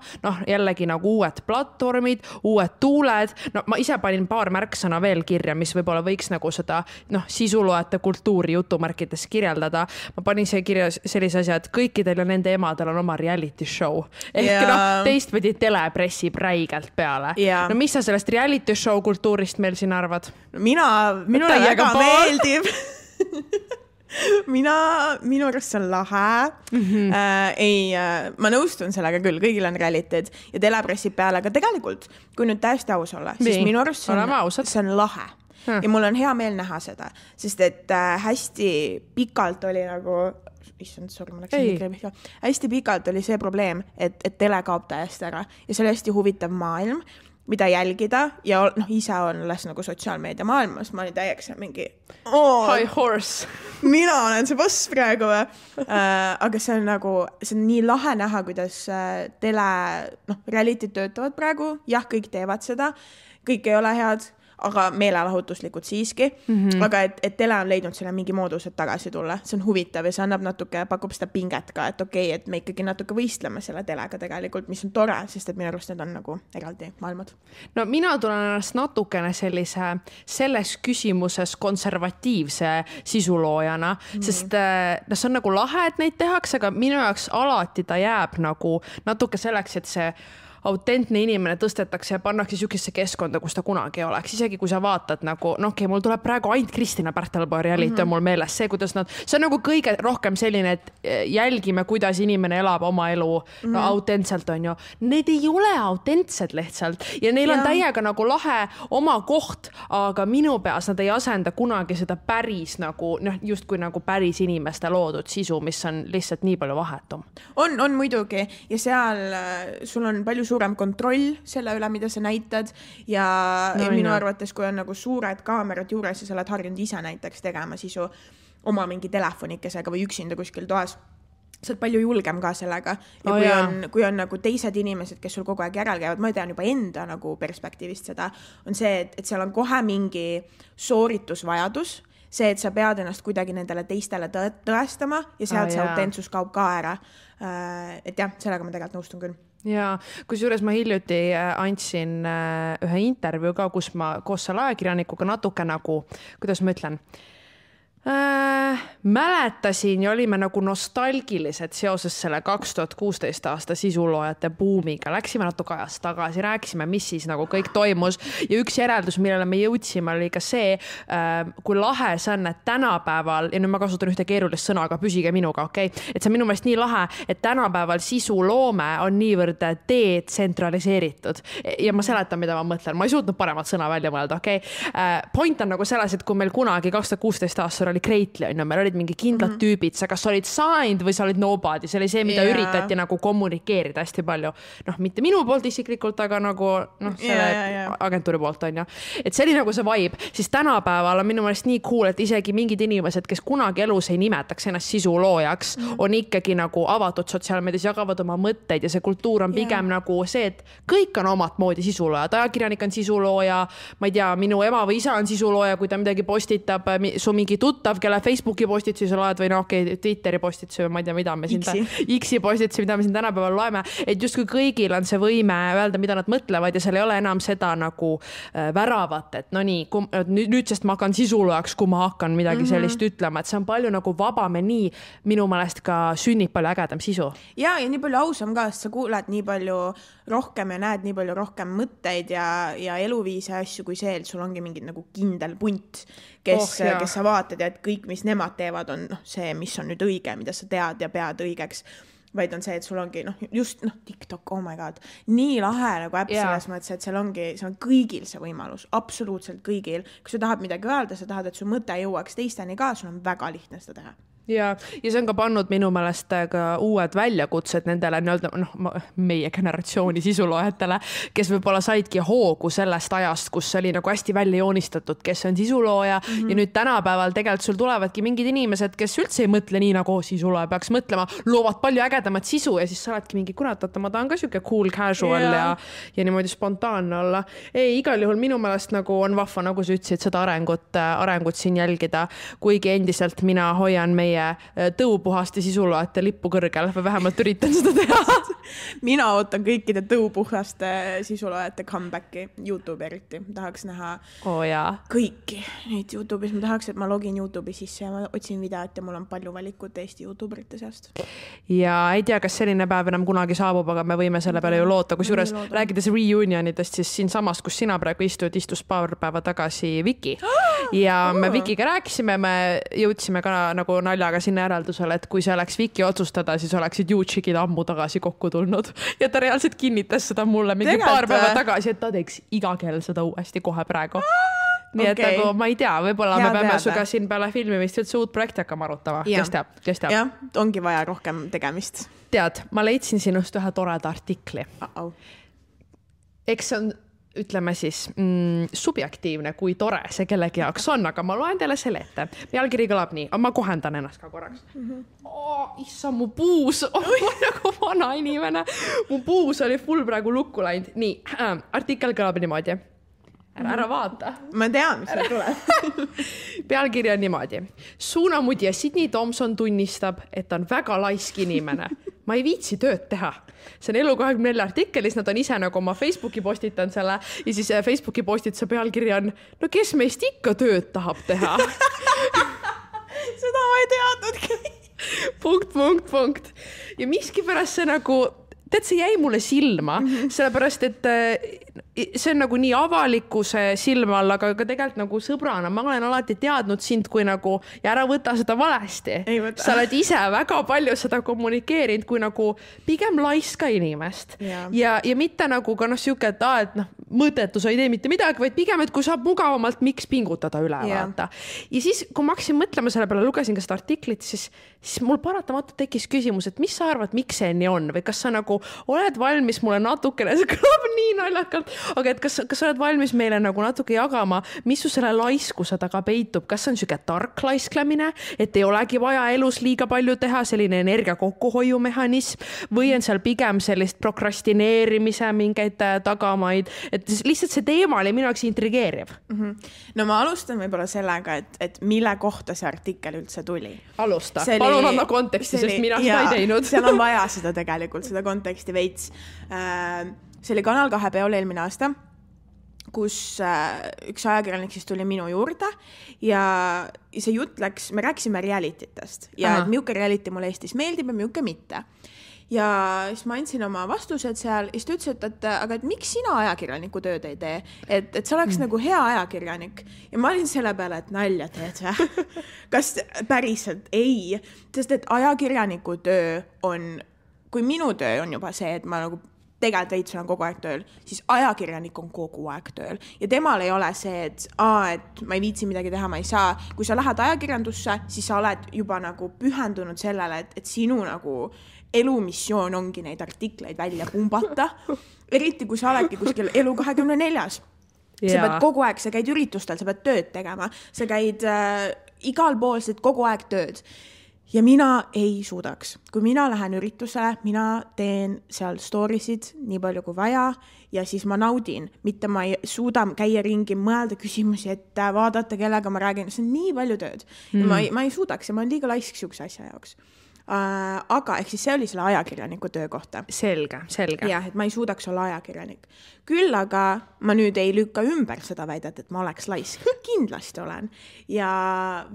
Jällegi nagu uued platvormid, uued tuuled. Ma ise panin paar märksõna veel kirja, mis võib-olla võiks nagu seda sisuloete kultuuri jutumärkides kirjeldada. Ma panin see kirja sellise asja, et kõikidel ja nende emadel on oma reality show. Ehk teistpidi telepressib räigelt peale. Mis sa sellest reality show kultuurist meil siin arvad? Minule väga meeldib. Minu arust see on lahe. Ma nõustun sellega küll, kõigil on realitid ja telepressib peale, aga tegelikult, kui nüüd täiesti aus olla, siis minu arust see on lahe. Ja mul on hea meel näha seda, sest et hästi pikalt oli nagu hästi pikalt oli see probleem, et tele kaob täiesti ära ja see oli hästi huvitav maailm, mida jälgida ja ise on nagu sotsiaalmeedia maailmas, ma olin täieks mingi high horse. Mina olen see boss praegu. Aga see on nii lahe näha, kuidas realitid töötavad praegu. Jah, kõik teevad seda, kõik ei ole head, aga meelelahutuslikud siiski. Aga et tele on leidnud selle mingi moodus, et tagasi tulla. See on huvitav ja see annab natuke, pakub seda pinget ka, et okei, et me ikkagi natuke võistleme selle telega tegelikult, mis on tore, sest et minu arust need on nagu eraldi maailmad. Mina tulen ennast natukene selles küsimuses konservatiivse sisuloojana, sest see on nagu lahe, et neid tehakse, aga minu jaoks alati ta jääb nagu natuke selleks, et see autentne inimene tõstetakse ja pannakse sükesse keskkonda, kus ta kunagi oleks. Isegi kui sa vaatad nagu, mul tuleb praegu ainult Kristina Pärtelpaa reality on mul meeles see, kuidas see on nagu kõige rohkem selline, et jälgime, kuidas inimene elab oma elu autentselt on ju. Need ei ole autentsed lihtsalt ja neil on täiega nagu lahe oma koht, aga minu peas nad ei asenda kunagi seda päris nagu, justkui nagu päris inimeste loodud sisu, mis on lihtsalt nii palju vahetum. On muidugi ja seal sul on palju suurem kontroll selle üle, mida sa näitad ja minu arvates, kui on nagu suured kaamerad juures ja sa oled harjunud ise näiteks tegema sisu oma mingi telefonikesega või üksinda kuskil toas, sa oled palju julgem ka sellega ja kui on nagu teised inimesed, kes sul kogu aeg järel käivad, ma tean juba enda nagu perspektiivist seda, on see, et seal on kohe mingi sooritusvajadus, see, et sa pead ennast kuidagi nendele teistele tõestama ja sealt see autentsus kaob ka ära. Et jah, sellega ma tegelikult nõustun küll. Ja kusjuures ma hiljuti andsin ühe intervjuu ka, kus ma koos selle ajakirjanikuga natuke nagu, kuidas ma ütlen, mäletasin ja olime nagu nostalgilised seoses selle 2016 aasta sisuloojate buumiga. Läksime natuke ajast tagasi, rääkisime, mis siis nagu kõik toimus ja üks järeldus, millele me jõudsime, oli ka see, kui lahe see on, et tänapäeval, ja nüüd ma kasutan ühte keerulist sõna, aga püsige minuga, okei? Et see on minu meelest nii lahe, et tänapäeval sisuloome on niivõrd detsentraliseeritud ja ma seletan, mida ma mõtlen. Ma ei suutnud paremat sõna välja mõelda, okei? Point on nagu selles, et kui meil kunagi 2016 aastal oli Kreitli, on ju, meil olid mingi kindlad tüübid, sa kas olid signed või sa olid nobody, see oli see, mida üritati nagu kommunikeerida hästi palju. Mitte minu poolt isiklikult, aga nagu selle agentuuri poolt on ju. Et see oli nagu see vibe, siis tänapäeval on minu meelest nii cool, et isegi mingid inimesed, kes kunagi elus ei nimetaks ennast sisuloojaks, on ikkagi nagu avatud sotsiaalmeedias, jagavad oma mõtteid ja see kultuur on pigem nagu see, et kõik on omat moodi sisuloojad. Ajakirjanik on sisulooja, ma ei tea, minu ema või isa on sisulooja, kui ta midagi postitab, su mingi tuttav tuttav, kelle Facebooki postitusi sa loed või Twitteri postitusi või ma ei tea, mida me siin X-i postitusi, mida me siin tänapäeval loeme, et justkui kõigil on see võime öelda, mida nad mõtlevad ja seal ei ole enam seda nagu väravat, et no nii, nüüd sest ma hakkan sisulojaks, kui ma hakkan midagi sellist ütlema, et see on palju nagu vabam ja nii minu meelest ka sünnib palju ägedam sisu. Ja nii palju ausam ka, sest sa kuuled nii palju rohkem ja näed nii palju rohkem mõtteid ja eluviise asju kui see, et sul ongi mingi nagu kindel punt, kes sa vaatad ja et kõik, mis nemad teevad, on see, mis on nüüd õige, mida sa tead ja pead õigeks, vaid on see, et sul ongi just TikTok, oh my god, nii lahe nagu äpp selles mõttes, et seal on kõigil see võimalus, absoluutselt kõigil. Kui sa tahad midagi öelda, sa tahad, et su mõte jõuaks teisteni ka, sul on väga lihtne seda teha. Ja see on ka pannud minu meelest ka uued väljakutsed nendele meie generatsiooni sisuloojatele, kes võib-olla saidki hoogu sellest ajast, kus oli nagu hästi välja joonistatud, kes on sisulooja ja nüüd tänapäeval tegelikult sul tulevadki mingid inimesed, kes üldse ei mõtle nii nagu sisulooja peaks mõtlema, loovad palju ägedamat sisu ja siis sa oledki mingi kurat, ma tahan ka siuke cool casual ja niimoodi spontaanne olla. Ei, igal juhul minu meelest nagu on vahva, nagu sa ütlesid, seda arengut siin jälgida, kuigi endiselt mina hoian meie tõupuhaste sisuloajate lippu kõrgel või vähemalt üritan seda teha. Mina ootan kõikide tõupuhaste sisuloajate comebacki YouTube eriti. Tahaks näha kõiki neid YouTube'is. Ma tahaks, et ma login YouTube'i sisse ja ma otsin videot ja mul on palju valikut Eesti YouTuberite seast. Ja ei tea, kas selline päev enam kunagi saabub, aga me võime selle peale ju loota. Kusjuures rääkides reunionidest, siis siin samas, kus sina praegu istus paar päeva tagasi Viki. Ja me Vikiga rääkisime, me jõudsime ka nagu aga sinna järeldusele, et kui see oleks Viki otsustada, siis oleksid YouTube'id ammu tagasi kokku tulnud. Ja ta reaalselt kinnitas seda mulle mingi paar päeva tagasi, et ta teeks iga kell seda uuesti kohe praegu. Nii et nagu ma ei tea, võib-olla me peame suga siin peale filmimist üldse uut projekti hakkama arutama. Kes teab? Jah, ongi vaja rohkem tegemist. Tead, ma leidsin sinust ühe toreda artikli. Eks see on ütleme siis subjektiivne, kui tore see kellegi jaoks on, aga ma loen teile selle ette. Pealkiri kõlab nii, ma kohendan ennast ka korraks. Issa, mu puus, nagu vana inimene. Mu puus oli full praegu lukku läinud. Nii, artikkel kõlab niimoodi. Ära vaata. Ma tean, mis see tuleb. Pealkiri on niimoodi. Suunamudja Sydney Thompson tunnistab, et on väga laisk inimene. Ma ei viitsi tööd teha. See on Elu24 artikelis, nad on ise nagu oma Facebooki postitan selle ja siis Facebooki postituse pealkiri on, no kes meist ikka tööd tahab teha? Seda ma ei teadnudki. Punkt. Ja miskipärast see nagu, see jäi mulle silma, sellepärast, et see on nagu nii avalikkuse silma all, aga tegelikult nagu sõbrana. Ma olen alati teadnud sind kui nagu, ja ära võta seda valesti. Sa oled ise väga palju seda kommunikeerinud kui nagu pigem laiska inimest. Ja mitte nagu ka siuke, et mõttetu sa ei tee mitte midagi, vaid pigem, et kui saab mugavamalt, miks pingutada üle vaata. Ja siis, kui ma hakkasin mõtlema selle peale, lugesin ka seda artiklit, siis mul paratamatult tekkis küsimus, et mis sa arvad, miks see nii on? Või kas sa nagu oled valmis mulle natukene, see kõlab nii naljakalt, aga et kas sa oled valmis meile nagu natuke jagama, mis su selle laiskuse taga peitub? Kas see on siuke tark laisklemine, et ei olegi vaja elus liiga palju teha, selline energia kokkuhoiumehhanism, või on seal pigem sellist prokrastineerimise mingeid tagamaid, et lihtsalt see teema oli minu jaoks intrigeeriv. No ma alustan võib-olla sellega, et mille kohta see artikkel üldse tuli. Alusta, palun anna konteksti, sest mina seda ei teinud. Seal on vaja seda tegelikult, seda konteksti veits. See oli Kanal 2 peol eelmine aasta, kus üks ajakirjanik siis tuli minu juurde ja see jutt läks, me rääkisime realititest ja milline reality mulle Eestis meeldib ja milline mitte. Ja siis ma andsin oma vastused seal ja siis ta ütles, et miks sina ajakirjaniku tööd ei tee? Et sa oleks nagu hea ajakirjanik. Ja ma olin selle peale, et nalja teed. Kas päriselt? Ei. Sest et ajakirjaniku töö on, kui minu töö on juba see, et ma nagu tegelikult veits olen kogu aeg tööl, siis ajakirjanik on kogu aeg tööl. Ja temal ei ole see, et ma ei viitsi midagi teha, ma ei saa. Kui sa lähed ajakirjandusse, siis sa oled juba nagu pühendunud sellele, et sinu nagu elumissioon ongi neid artikleid välja pumbata. Eriti kui sa oledki kuskil Elu24. Sa pead kogu aeg, sa käid üritustel, sa pead tööd tegema. Sa käid igal pool, sa teed kogu aeg tööd. ja mina ei suudaks. Kui mina lähen üritusele, mina teen seal storysid nii palju kui vaja ja siis ma naudin. Mitte ma ei suuda käia ringi, mõelda küsimusi, et vaadata, kellega ma räägin. See on nii palju tööd. Ja ma ei suudaks ja ma olen liiga laisk siukse asja jaoks. Aga ehk siis see oli selle ajakirjaniku töö kohta. Selge. Jah, et ma ei suudaks olla ajakirjanik. Küll aga ma nüüd ei lükka ümber seda väidet, et ma oleks laisk. Kindlasti olen. Ja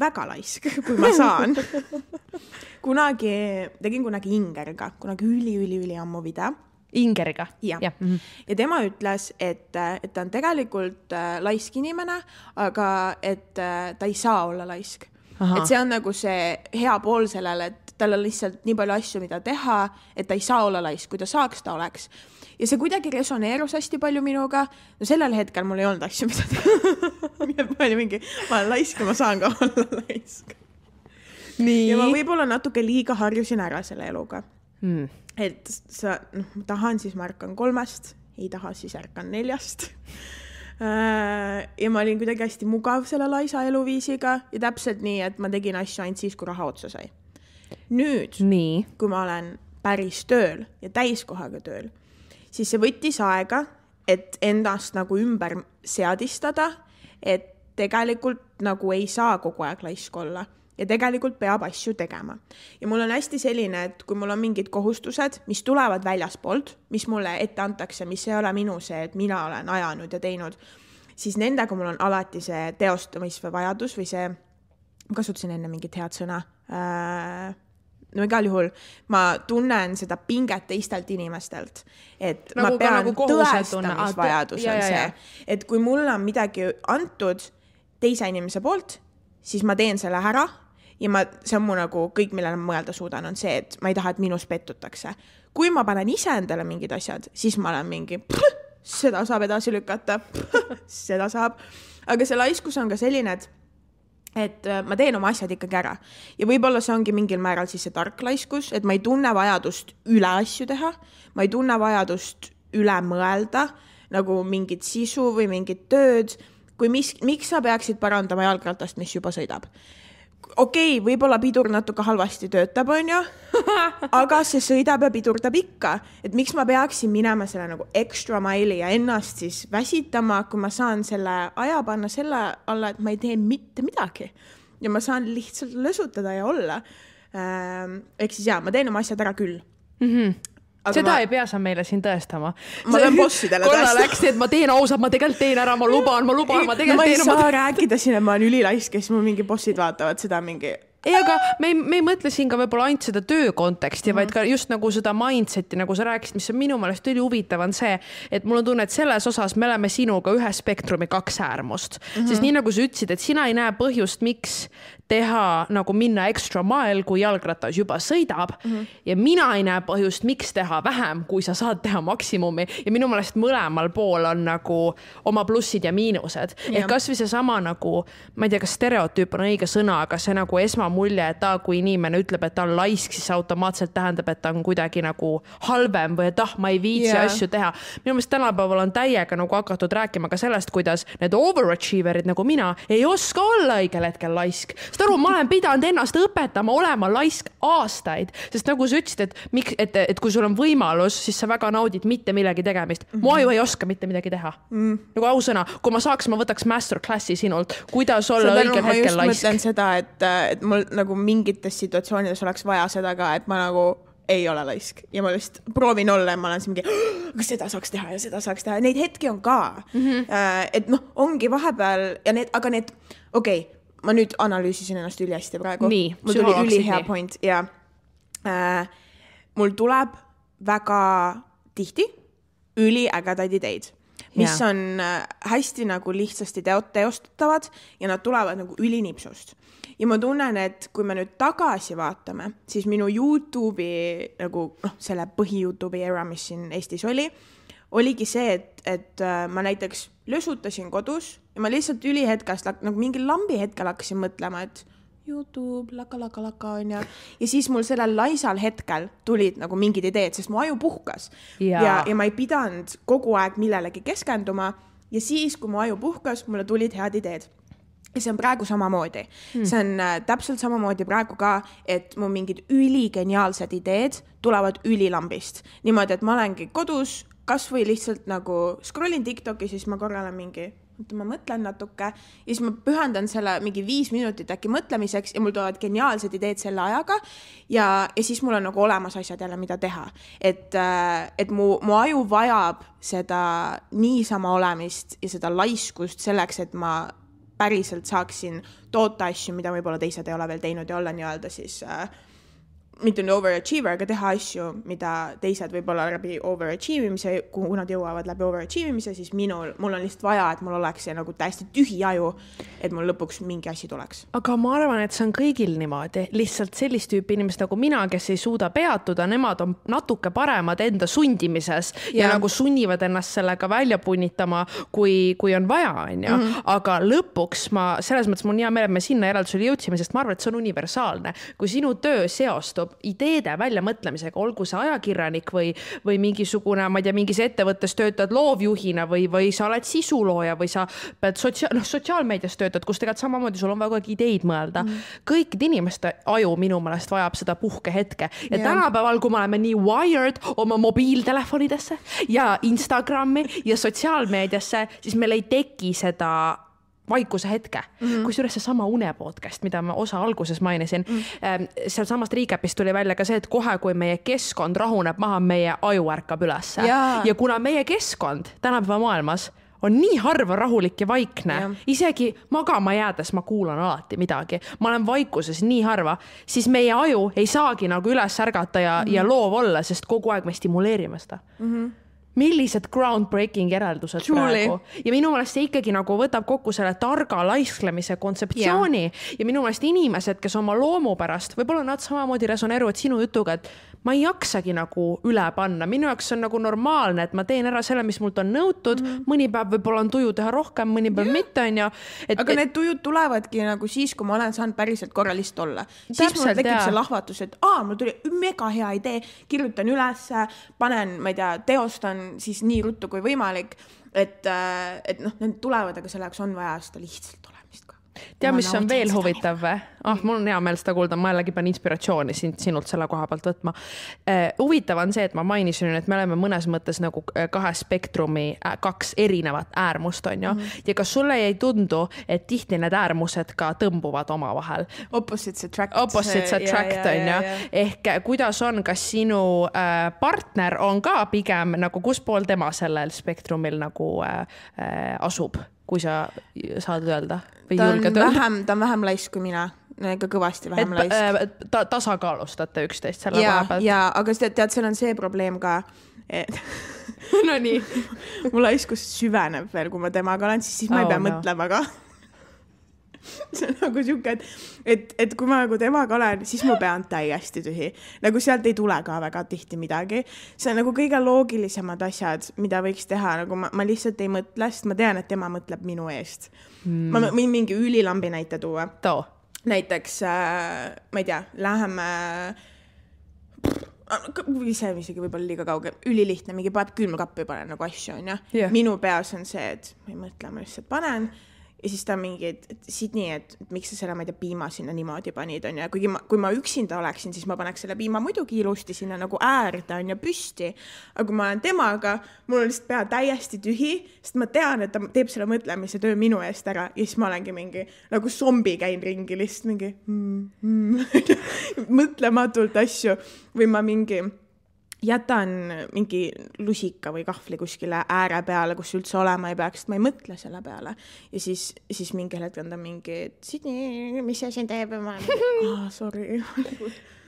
väga laisk, kui ma saan. Tegin kunagi Ingeriga, kunagi üli ammu video. Ingeriga? Ja ja tema ütles, et ta on tegelikult laisk inimene, aga et ta ei saa olla laisk. Et see on nagu see hea pool sellele, et tal on lihtsalt nii palju asju, mida teha, et ta ei saa olla laisk. Kui ta saaks, ta oleks. Ja see kuidagi resoneerus hästi palju minuga. No sellel hetkel mul ei olnud asju, mida teha. Ma olen laisk ja ma saan ka olla laisk. Nii. Ja ma võib-olla natuke liiga harjusin ära selle eluga. Et sa tahan, siis ma ärkan 3, ei taha, siis ärkan 4. Ja ma olin kuidagi hästi mugav selle laisa eluviisiga ja täpselt nii, et ma tegin asju ainult siis, kui raha otsa sai. Nüüd, kui ma olen päris tööl ja täiskohaga tööl, siis see võttis aega, et endast nagu ümber seadistada, et tegelikult nagu ei saa kogu aeg laisk olla. Ja tegelikult peab asju tegema. Ja mul on hästi selline, et kui mul on mingid kohustused, mis tulevad väljaspoolt, mis mulle ette antakse, mis ei ole minu see, et mina olen ajanud ja teinud, siis nendega mul on alati see teostamise vajadus või see, ma kasutasin enne mingit head sõna, no igal juhul ma tunnen seda pinget teistelt inimestelt, et nagu ma pean nagu tõestamisvajadus on see, et kui mul on midagi antud teise inimese poolt, siis ma teen selle ära ja see on mu nagu kõik, millele ma mõelda suudan, on see, et ma ei taha, et minus pettutakse. Kui ma panen ise endale mingid asjad, siis ma olen mingi, seda saab edasi lükata, seda saab. Aga see laiskus on ka selline, et ma teen oma asjad ikkagi ära. Ja võib-olla see ongi mingil määral siis see tark laiskus, et ma ei tunne vajadust üle asju teha, ma ei tunne vajadust üle mõelda, nagu mingit sisu või mingit tööd, kui miks sa peaksid parandama jalgratast, mis juba sõidab? Okei, võib-olla pidur natuke halvasti töötab, on ju, aga see sõidab ja pidurdab ikka. Et miks ma peaksin minema selle nagu extra maili ja ennast siis väsitama, kui ma saan selle aja panna selle alla, et ma ei tee mitte midagi. Ja ma saan lihtsalt lõsutada ja olla. Ehk siis ma teen oma asjad ära küll. Aga seda ei pea sa meile siin tõestama. Ma pean bossidele tõestama. Korra läks, et ma teen ausalt, ma tegelikult teen ära, ma luban, ma tegelikult teen. Ma ei saa rääkida siin, et ma olen ülilaisk, kes mul mingi bossid vaatavad seda mingi... Ei, aga me ei mõtle siin ka võib-olla ainult seda töö konteksti, vaid ka just nagu seda mindseti, nagu sa rääkisid, mis on minu meelest üli huvitav on see, et mul on tunne, et selles osas me oleme sinuga ühe spektrumi 2 äärmust. Sest nii nagu sa ütlesid, et sina ei näe põhjust, miks teha nagu minna extra mile, kui jalgratas juba sõidab ja mina ei näe põhjust, miks teha vähem, kui sa saad teha maksimumi ja minu meelest mõlemal pool on nagu oma plussid ja miinused. Et kas või see sama nagu, ma ei tea, kas stereotüüp on õige sõna, aga see nagu esmamulje, et kui inimene ütleb, et ta on laisk, siis automaatselt tähendab, et ta on kuidagi nagu halvem või et ma ei viitsi asju teha. Minu meelest tänapäeval on täiega nagu hakatud rääkima ka sellest, kuidas need overachieverid nagu mina ei oska olla õigel hetkel laisk. Aru, ma olen pidanud ennast õpetama olema laisk aastaid, sest nagu sa ütlesid, et kui sul on võimalus, siis sa väga naudid mitte millegi tegemist. Ma ju ei oska mitte midagi teha. Nagu ausõna, kui ma saaks, ma võtaks masterclassi sinult, kuidas olla õigel hetkel laisk. Ma just mõtlen seda, et mul nagu mingites situatsioonides oleks vaja seda ka, et ma nagu ei ole laisk ja ma just proovin olla ja ma olen siin mingi, kas seda saaks teha ja seda saaks teha. Neid hetki on ka. Et ongi vahepeal ja aga need, okei, ma nüüd analüüsisin ennast üli hästi praegu. Nii, mul tuli üli hea point ja mul tuleb väga tihti üli ägedaid ideid, mis on hästi nagu lihtsasti teostatavad ja nad tulevad nagu ülinipsust. Ja ma tunnen, et kui me nüüd tagasi vaatame, siis minu YouTube'i nagu selle põhi-YouTube'i era, mis siin Eestis oligi see, et ma näiteks lösutasin kodus ja ma lihtsalt ülihetkast nagu mingi lambi hetkel hakkasin mõtlema, et YouTube, laka on ja siis mul sellel laisal hetkel tulid nagu mingid ideed, sest mu aju puhkas ja ma ei pidanud kogu aeg millelegi keskenduma ja siis, kui mu aju puhkas, mulle tulid head ideed. ja see on praegu samamoodi. See on täpselt samamoodi praegu ka, et mu mingid üligeniaalsed ideed tulevad ülilambist. Niimoodi, et ma olengi kodus, kas või lihtsalt nagu scrollin TikToki, siis ma korra olen mingi, ma mõtlen natuke ja siis ma pühendan selle mingi 5 minutit äkki mõtlemiseks ja mul tulevad geniaalsed ideed selle ajaga ja siis mul on nagu olemas asjad jälle, mida teha. Et mu aju vajab seda niisama olemist ja seda laiskust selleks, et ma päriselt saaksin toota asju, mida võib-olla teised ei ole veel teinud ja olla nii-öelda siis mitte overachiever, aga teha asju, mida teised võib-olla läbi overachievimise, kuhu nad jõuavad läbi overachievimise, siis mul on lihtsalt vaja, et mul oleks see nagu täiesti tühi aju, et mul lõpuks mingi asi tuleks. Aga ma arvan, et see on kõigil niimoodi. Lihtsalt sellist tüüpi inimesed nagu mina, kes ei suuda peatuda, nemad on natuke paremad enda sundimises ja nagu sunnivad ennast sellega välja punnitama, kui on vaja, on ju. Aga lõpuks selles mõttes mul on hea meel, et me sinna järeldusele jõudsime, sest ma arvan, et see on universaalne. Kui sinu töö seostub ideede väljamõtlemisega, olgu see ajakirjanik või mingisugune, ma ei tea, mingis ettevõttes töötad loovjuhina või sa oled sisulooja või sa pead sotsiaalmeedias töötad, kus tegelikult samamoodi sul on väga ideid mõelda. Kõikide inimeste aju minu meelest vajab seda puhkehetke. Ja tänapäeval, kui me oleme nii wired oma mobiiltelefonidesse ja Instagrami ja sotsiaalmeediasse, siis meil ei teki seda vaikuse hetke. Kusjuures see sama unepodcast, mida ma osa alguses mainisin, seal samast recapist tuli välja ka see, et kohe, kui meie keskkond rahuneb maha, meie aju ärkab ülesse. Ja kuna meie keskkond tänapäeva maailmas on nii harva rahulik ja vaikne, isegi magama jäädes ma kuulan alati midagi, ma olen vaikuses nii harva, siis meie aju ei saagi nagu üles ärgata ja loov olla, sest kogu aeg me stimuleerime seda. Millised groundbreaking järeldused praegu. Ja minu meelest see ikkagi nagu võtab kokku selle targa laisklemise kontseptsiooni ja minu meelest inimesed, kes oma loomu pärast, võib-olla nad samamoodi resoneeruvad sinu jutuga, et ma ei jaksagi nagu üle panna. Minu jaoks on nagu normaalne, et ma teen ära selle, mis mult on nõutud. Mõni päev võib-olla on tuju teha rohkem, mõni päev mitte on ja... Aga need tujud tulevadki nagu siis, kui ma olen saanud päriselt korralist olla. Siis mul tekib see lahvatus, et mul tuli mega hea idee, kirjutan üles, panen, ma ei tea, teostan siis nii ruttu kui võimalik, et need tulevad, aga selleks on vaja seda lihtsalt olemist ka. Tea, mis on veel huvitav või? Mul on hea meel seda kuulda, ma jällegi pean inspiratsiooni sinult selle koha pealt võtma. Huvitav on see, et ma mainisin, et me oleme mõnes mõttes nagu 2 spektrumi, 2 erinevat äärmust on ju. Ja kas sulle ei tundu, et tihti need äärmused ka tõmbuvad oma vahel? Opposites attract on ju. Ehk kuidas on, kas sinu partner on ka pigem nagu kus pool tema sellel spektrumil nagu asub? Kui sa saad öelda või julged öelda? Ta on vähem laisk kui mina, ikka kõvasti vähem laisk. Tasakaalustate üksteist selle koha pealt. Ja, aga tead, seal on see probleem ka, no nii. Mu laiskus süveneb veel, kui ma temaga olen, siis ma ei pea mõtlema ka. See on nagu siuke, et kui ma nagu temaga olen, siis mu pea on täiesti tühi. Nagu sealt ei tule ka väga tihti midagi. See on nagu kõige loogilisemad asjad, mida võiks teha. Nagu ma lihtsalt ei mõtle, sest ma tean, et tema mõtleb minu eest. Ma võin mingi ülilambi näite tuua. Näiteks, ma ei tea, läheme... see on isegi võib-olla liiga kauge. Ülilihtne, mingi paneb külmkappi panen nagu asju, on ja? Minu peas on see, et ma ei mõtle, ma lihtsalt panen... Ja siis ta on mingi, et Sydney, et miks sa selle, ma ei tea, piima sinna niimoodi panid, on ja kui ma üksinda oleksin, siis ma paneks selle piima muidugi ilusti sinna nagu äärde, on ja püsti. Aga kui ma olen temaga, mul on lihtsalt pea täiesti tühi, sest ma tean, et ta teeb selle mõtlemise töö minu eest ära ja siis ma olengi mingi, nagu zombi käin ringi lihtsalt mingi mõtlematult asju või ma mingi... jätan mingi lusika või kahvli kuskile ääre peale, kus üldse olema ei peaks, ma ei mõtle selle peale. Ja siis mingi hetk on ta mingi, Sydney, mis see siin teeb? Sorry.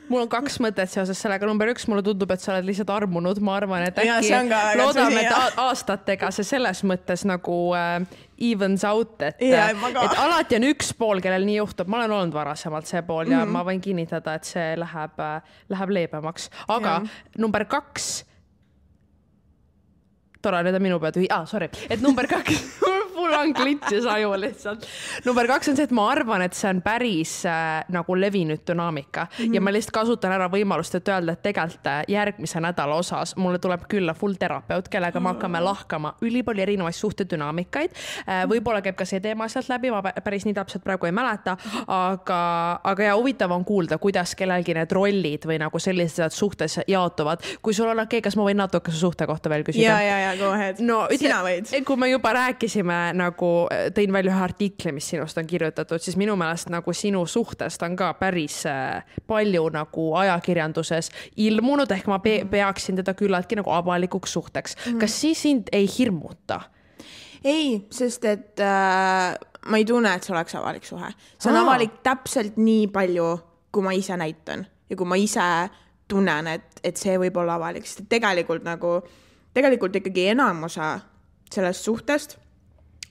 Mul on 2 mõtet seoses sellega. Number 1, mulle tundub, et sa oled lihtsalt armunud. Ma arvan, et äkki loodame, et aastatega see selles mõttes nagu evens out, et alati on üks pool, kellel nii juhtub. Ma olen olnud varasemalt see pool ja ma võin kinnitada, et see läheb leebemaks. Aga number 2, tore, nüüd on minu pead ühi. Sorry. Et number 2, mul on glitches aju lihtsalt. Number 2 on see, et ma arvan, et see on päris nagu levinud dünaamika ja ma lihtsalt kasutan ära võimalust, et öelda, et tegelikult järgmise nädala osas mulle tuleb külla full terapeut, kellega me hakkame lahkama ülipalju erinevaid suhtedünaamikaid. Võib-olla käib ka see teema sealt läbi, ma päris nii täpselt praegu ei mäleta, aga ja huvitav on kuulda, kuidas kellelgi need rollid või nagu sellised suhtes jaotuvad. Kui sul on okei, kas ma võin natuke su suhte kohta veel küsida? Ja, go ahead. No, sina võid. Kui me juba rääkisime, nagu tõin välja ühe artikli, mis sinust on kirjutatud, siis minu meelest nagu sinu suhtest on ka päris palju nagu ajakirjanduses ilmunud, ehk ma peaksin teda küllaltki nagu avalikuks suhteks. Kas siis sind ei hirmuta? Ei, sest et ma ei tunne, et see oleks avalik suhe. See on avalik täpselt nii palju, kui ma ise näitan ja kui ma ise tunnen, et see võib olla avalik, sest tegelikult ikkagi enamosa sellest suhtest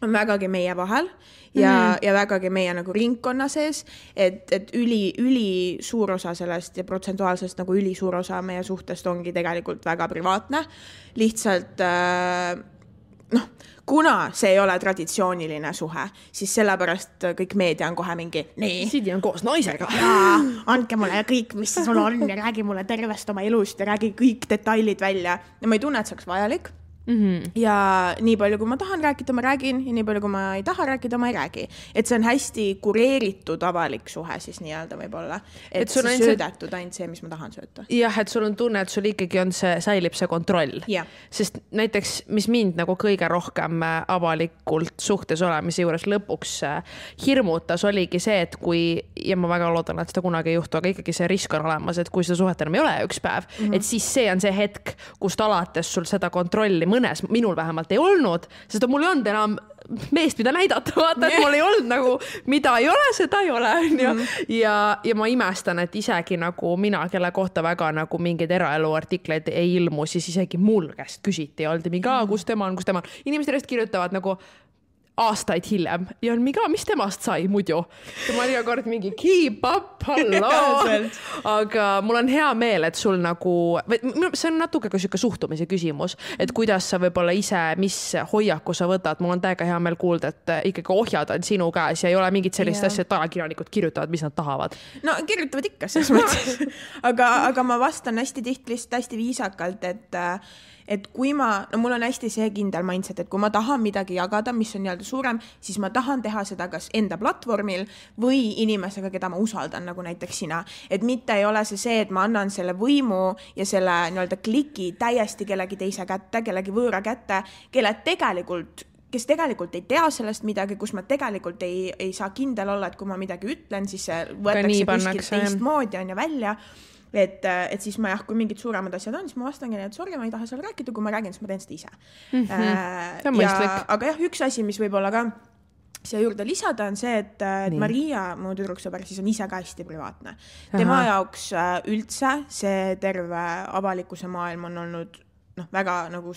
on vägagi meie vahel ja vägagi meie nagu ringkonna sees, et üli suur osa sellest ja protsentuaalsest nagu üli suur osa meie suhtest ongi tegelikult väga privaatne. Lihtsalt kuna see ei ole traditsiooniline suhe, siis sellepärast kõik meedia on kohe mingi Sidi on koos naisega. Andke mulle kõik, mis sul on ja räägi mulle tervest oma elust ja räägi kõik detailid välja. Ja ma ei tunne, et see oleks vajalik. Ja nii palju, kui ma tahan rääkida, ma räägin ja nii palju, kui ma ei taha rääkida, ma ei räägi. Et see on hästi kureeritud avalik suhe siis nii-öelda võib-olla. Et see söödetud ainult see, mis ma tahan sööta. Jah, et sul on tunne, et sul ikkagi on säilib see kontroll. Sest näiteks, mis mind nagu kõige rohkem avalikult suhtes olemise juures lõpuks hirmutas, oligi see, et kui, ja ma väga loodan, et seda kunagi ei juhtu, aga ikkagi see risk on olemas, et kui seda suhet enam ei ole üks päev, et siis see on see hetk, kust alates sul seda kontrolli mõnes, minul vähemalt ei olnud, sest mul ei olnud enam meest, mida näidata, vaata, et mul ei olnud nagu, mida ei ole, seda ei ole. Ja ma imestan, et isegi nagu mina, kelle kohta väga nagu mingeid eraelu artikleid ei ilmu, siis isegi mul käest küsiti ja oldi mingi, kus tema on. Inimesed järjest kirjutavad nagu aastaid hiljem ja on mingi, mis temast sai muidu. Ja ma iga kord mingi keep up, halloo. Aga mul on hea meel, et sul nagu, see on natuke ka siuke suhtumise küsimus, et kuidas sa võib-olla ise, mis hoiaku sa võtad. Mul on täiega hea meel kuulda, et ikkagi ohjad on sinu käes ja ei ole mingit sellist asja, et ajakirjanikud kirjutavad, mis nad tahavad. No kirjutavad ikka selles mõttes. aga ma vastan hästi tihti lihtsalt hästi viisakalt, et kui mul on hästi see kindel mindset, et kui ma tahan midagi jagada, mis on nii-öelda suurem, siis ma tahan teha seda kas enda platvormil või inimesega, keda ma usaldan, nagu näiteks sina. Et mitte ei ole see, et ma annan selle võimu ja selle nii-öelda kliki täiesti kellegi teise kätte, kellegi võõra kätte, kes tegelikult ei tea sellest midagi, kus ma tegelikult ei saa kindel olla, et kui ma midagi ütlen, siis see võetakse kuskilt teistmoodi on ja välja. Et siis ma kui mingid suuremad asjad on, siis ma vastangi, et sorry, ma ei taha seal rääkida, kui ma räägin, siis ma teen seda ise. Aga jah, üks asi, mis võib olla ka siia juurde lisada, on see, et Maria, mu tüdruksõber, siis on ise ka hästi privaatne. Tema jaoks üldse see terve avalikkuse maailm on olnud väga nagu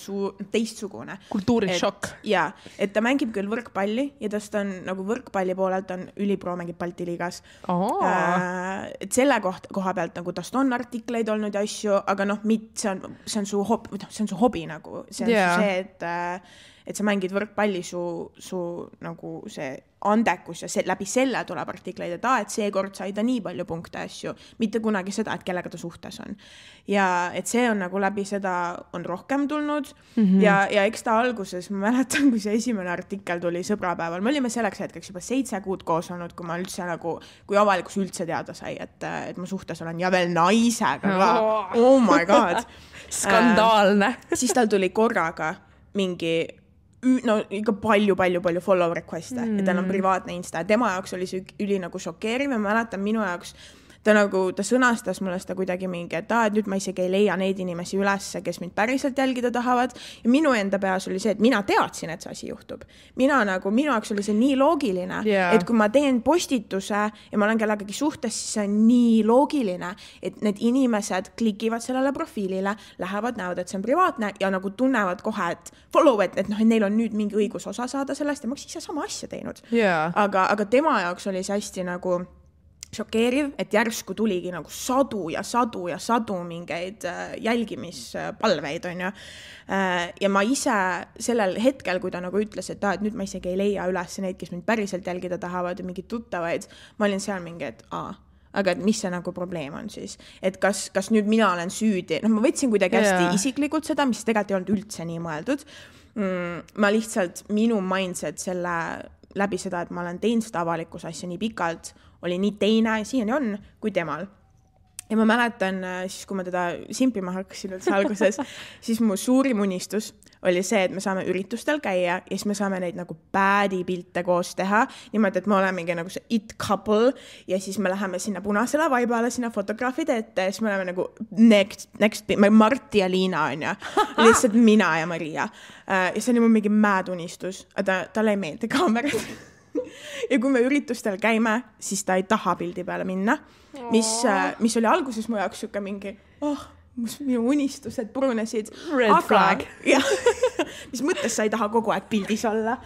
teistsugune. Kultuurishokk. Ja, et ta mängib küll võrkpalli ja tast on nagu võrkpalli poolelt on ülipro mängib Balti liigas. Et selle koha pealt nagu tast on artikleid olnud ja asju, aga see on su hobi nagu. See on see, et sa mängid võrkpalli, su nagu see andekus ja läbi selle tuleb artikleid, et seekord sai ta nii palju punkte asju, mitte kunagi seda, et kellega ta suhtes on. Ja et see on nagu läbi seda on rohkem tulnud ja eks ta alguses, ma mäletan, kui see esimene artikkel tuli sõbrapäeval, me olime selleks hetkeks juba 7 kuud koos olnud, kui ma üldse nagu, kui avalikus üldse teada sai, et ma suhtes olen ja veel naisega ka. Oh my god. Skandaalne. Siis tal tuli korraga mingi ikka palju follow request'e ja tal on privaatne Insta ja tema jaoks oli see üli nagu šokeeriv ja ma mäletan minu jaoks ta sõnastas mulle seda kuidagi mingi, et nüüd ma isegi ei leia neid inimesi ülesse, kes mind päriselt jälgida tahavad ja minu enda peas oli see, et mina teadsin, et see asi juhtub. Minu jaoks oli see nii loogiline, et kui ma teen postituse ja ma olen kellegagi suhtes, siis see on nii loogiline, et need inimesed klikivad sellele profiilile, lähevad, näevad, et see on privaatne ja nagu tunnevad kohe, et follow, et neil on nüüd mingi õigus osa saada sellest ja ma oleks ise sama asja teinud. Aga tema jaoks oli see hästi nagu šokeeriv, et järsku tuligi nagu sadu ja sadu mingeid jälgimispalveid, on ju. Ja ma ise sellel hetkel, kui ta nagu ütles, et nüüd ma isegi ei leia üles neid, kes mind päriselt jälgida tahavad ja mingid tuttavaid, ma olin seal mingi, et aga et mis see nagu probleem on siis, et kas nüüd mina olen süüdi, ma võtsin kuidagi hästi isiklikult seda, mis tegelikult ei olnud üldse nii mõeldud. Ma lihtsalt, minu mindset selle läbi seda, et ma olen teinud seda avalikus asja nii pikalt, oli nii teine, siiani on, kui temal. Ja ma mäletan, siis kui ma teda simpima hakkasin alguses, siis mu suurim unistus oli see, et me saame üritustel käia ja siis me saame neid nagu badi pilte koos teha, niimoodi, et me olemegi nagu see it couple ja siis me läheme sinna punasele vaibale, sinna fotograafide ette ja siis me oleme nagu next Marti ja Liina on ja lihtsalt mina ja Maria. Ja see oli mu mingi mad unistus, aga talle ei meeldi kaamerad. Ja kui me üritustel käime, siis ta ei taha pildi peale minna, mis oli alguses mu jaoks siuke mingi, minu unistused purunesid. Red flag. Mis mõttes sa ei taha kogu aeg pildis olla.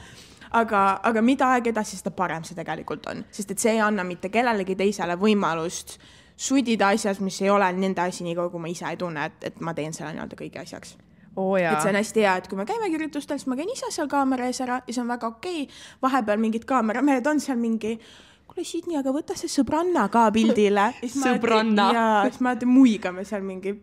Aga mida aeg edasi, seda parem see tegelikult on. Sest et see ei anna mitte kellelegi teisele võimalust sudida asjas, mis ei ole nende asi nii kui ma ise ei tunne, et ma teen selle nii-öelda kõigi asjaks. Et see on hästi hea, et kui ma käime üritustel, siis ma käin ise seal kaamera ees ära ja see on väga okei. Vahepeal mingid kaameramehed on seal mingi, kuule Sidni, aga võta see sõbranna ka pildile. Sõbranna. Ja siis ma muigame seal mingi,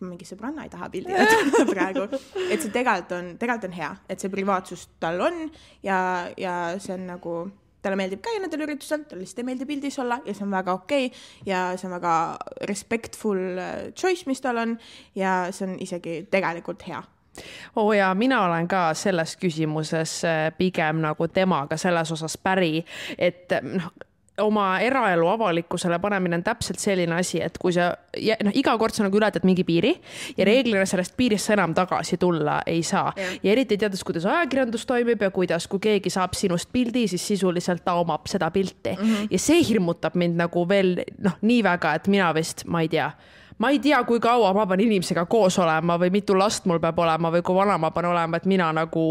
mingi sõbranna ei taha pildile praegu. Et see tegelikult on hea, et see privaatsus tal on ja see on nagu... Talle meeldib käia nendel üritusel, talle lihtsalt ei meeldi pildis olla ja see on väga okei ja see on väga respectful choice, mis tal on ja see on isegi tegelikult hea. Ja mina olen ka selles küsimuses pigem nagu temaga selles osas päri, et oma eraelu avalikkusele panemine on täpselt selline asi, et kui sa iga kord sa nagu ületad mingi piiri ja reeglina sellest piirist sa enam tagasi tulla ei saa. Ja eriti teades, kuidas ajakirjandus toimib ja kuidas, kui keegi saab sinust pildi, siis sisuliselt ta omab seda pilti. Ja see hirmutab mind nagu veel nii väga, et mina vist, ma ei tea, kui kaua ma pean inimesega koos olema või mitu last mul peab olema või kui vana ma pean olema, et mina nagu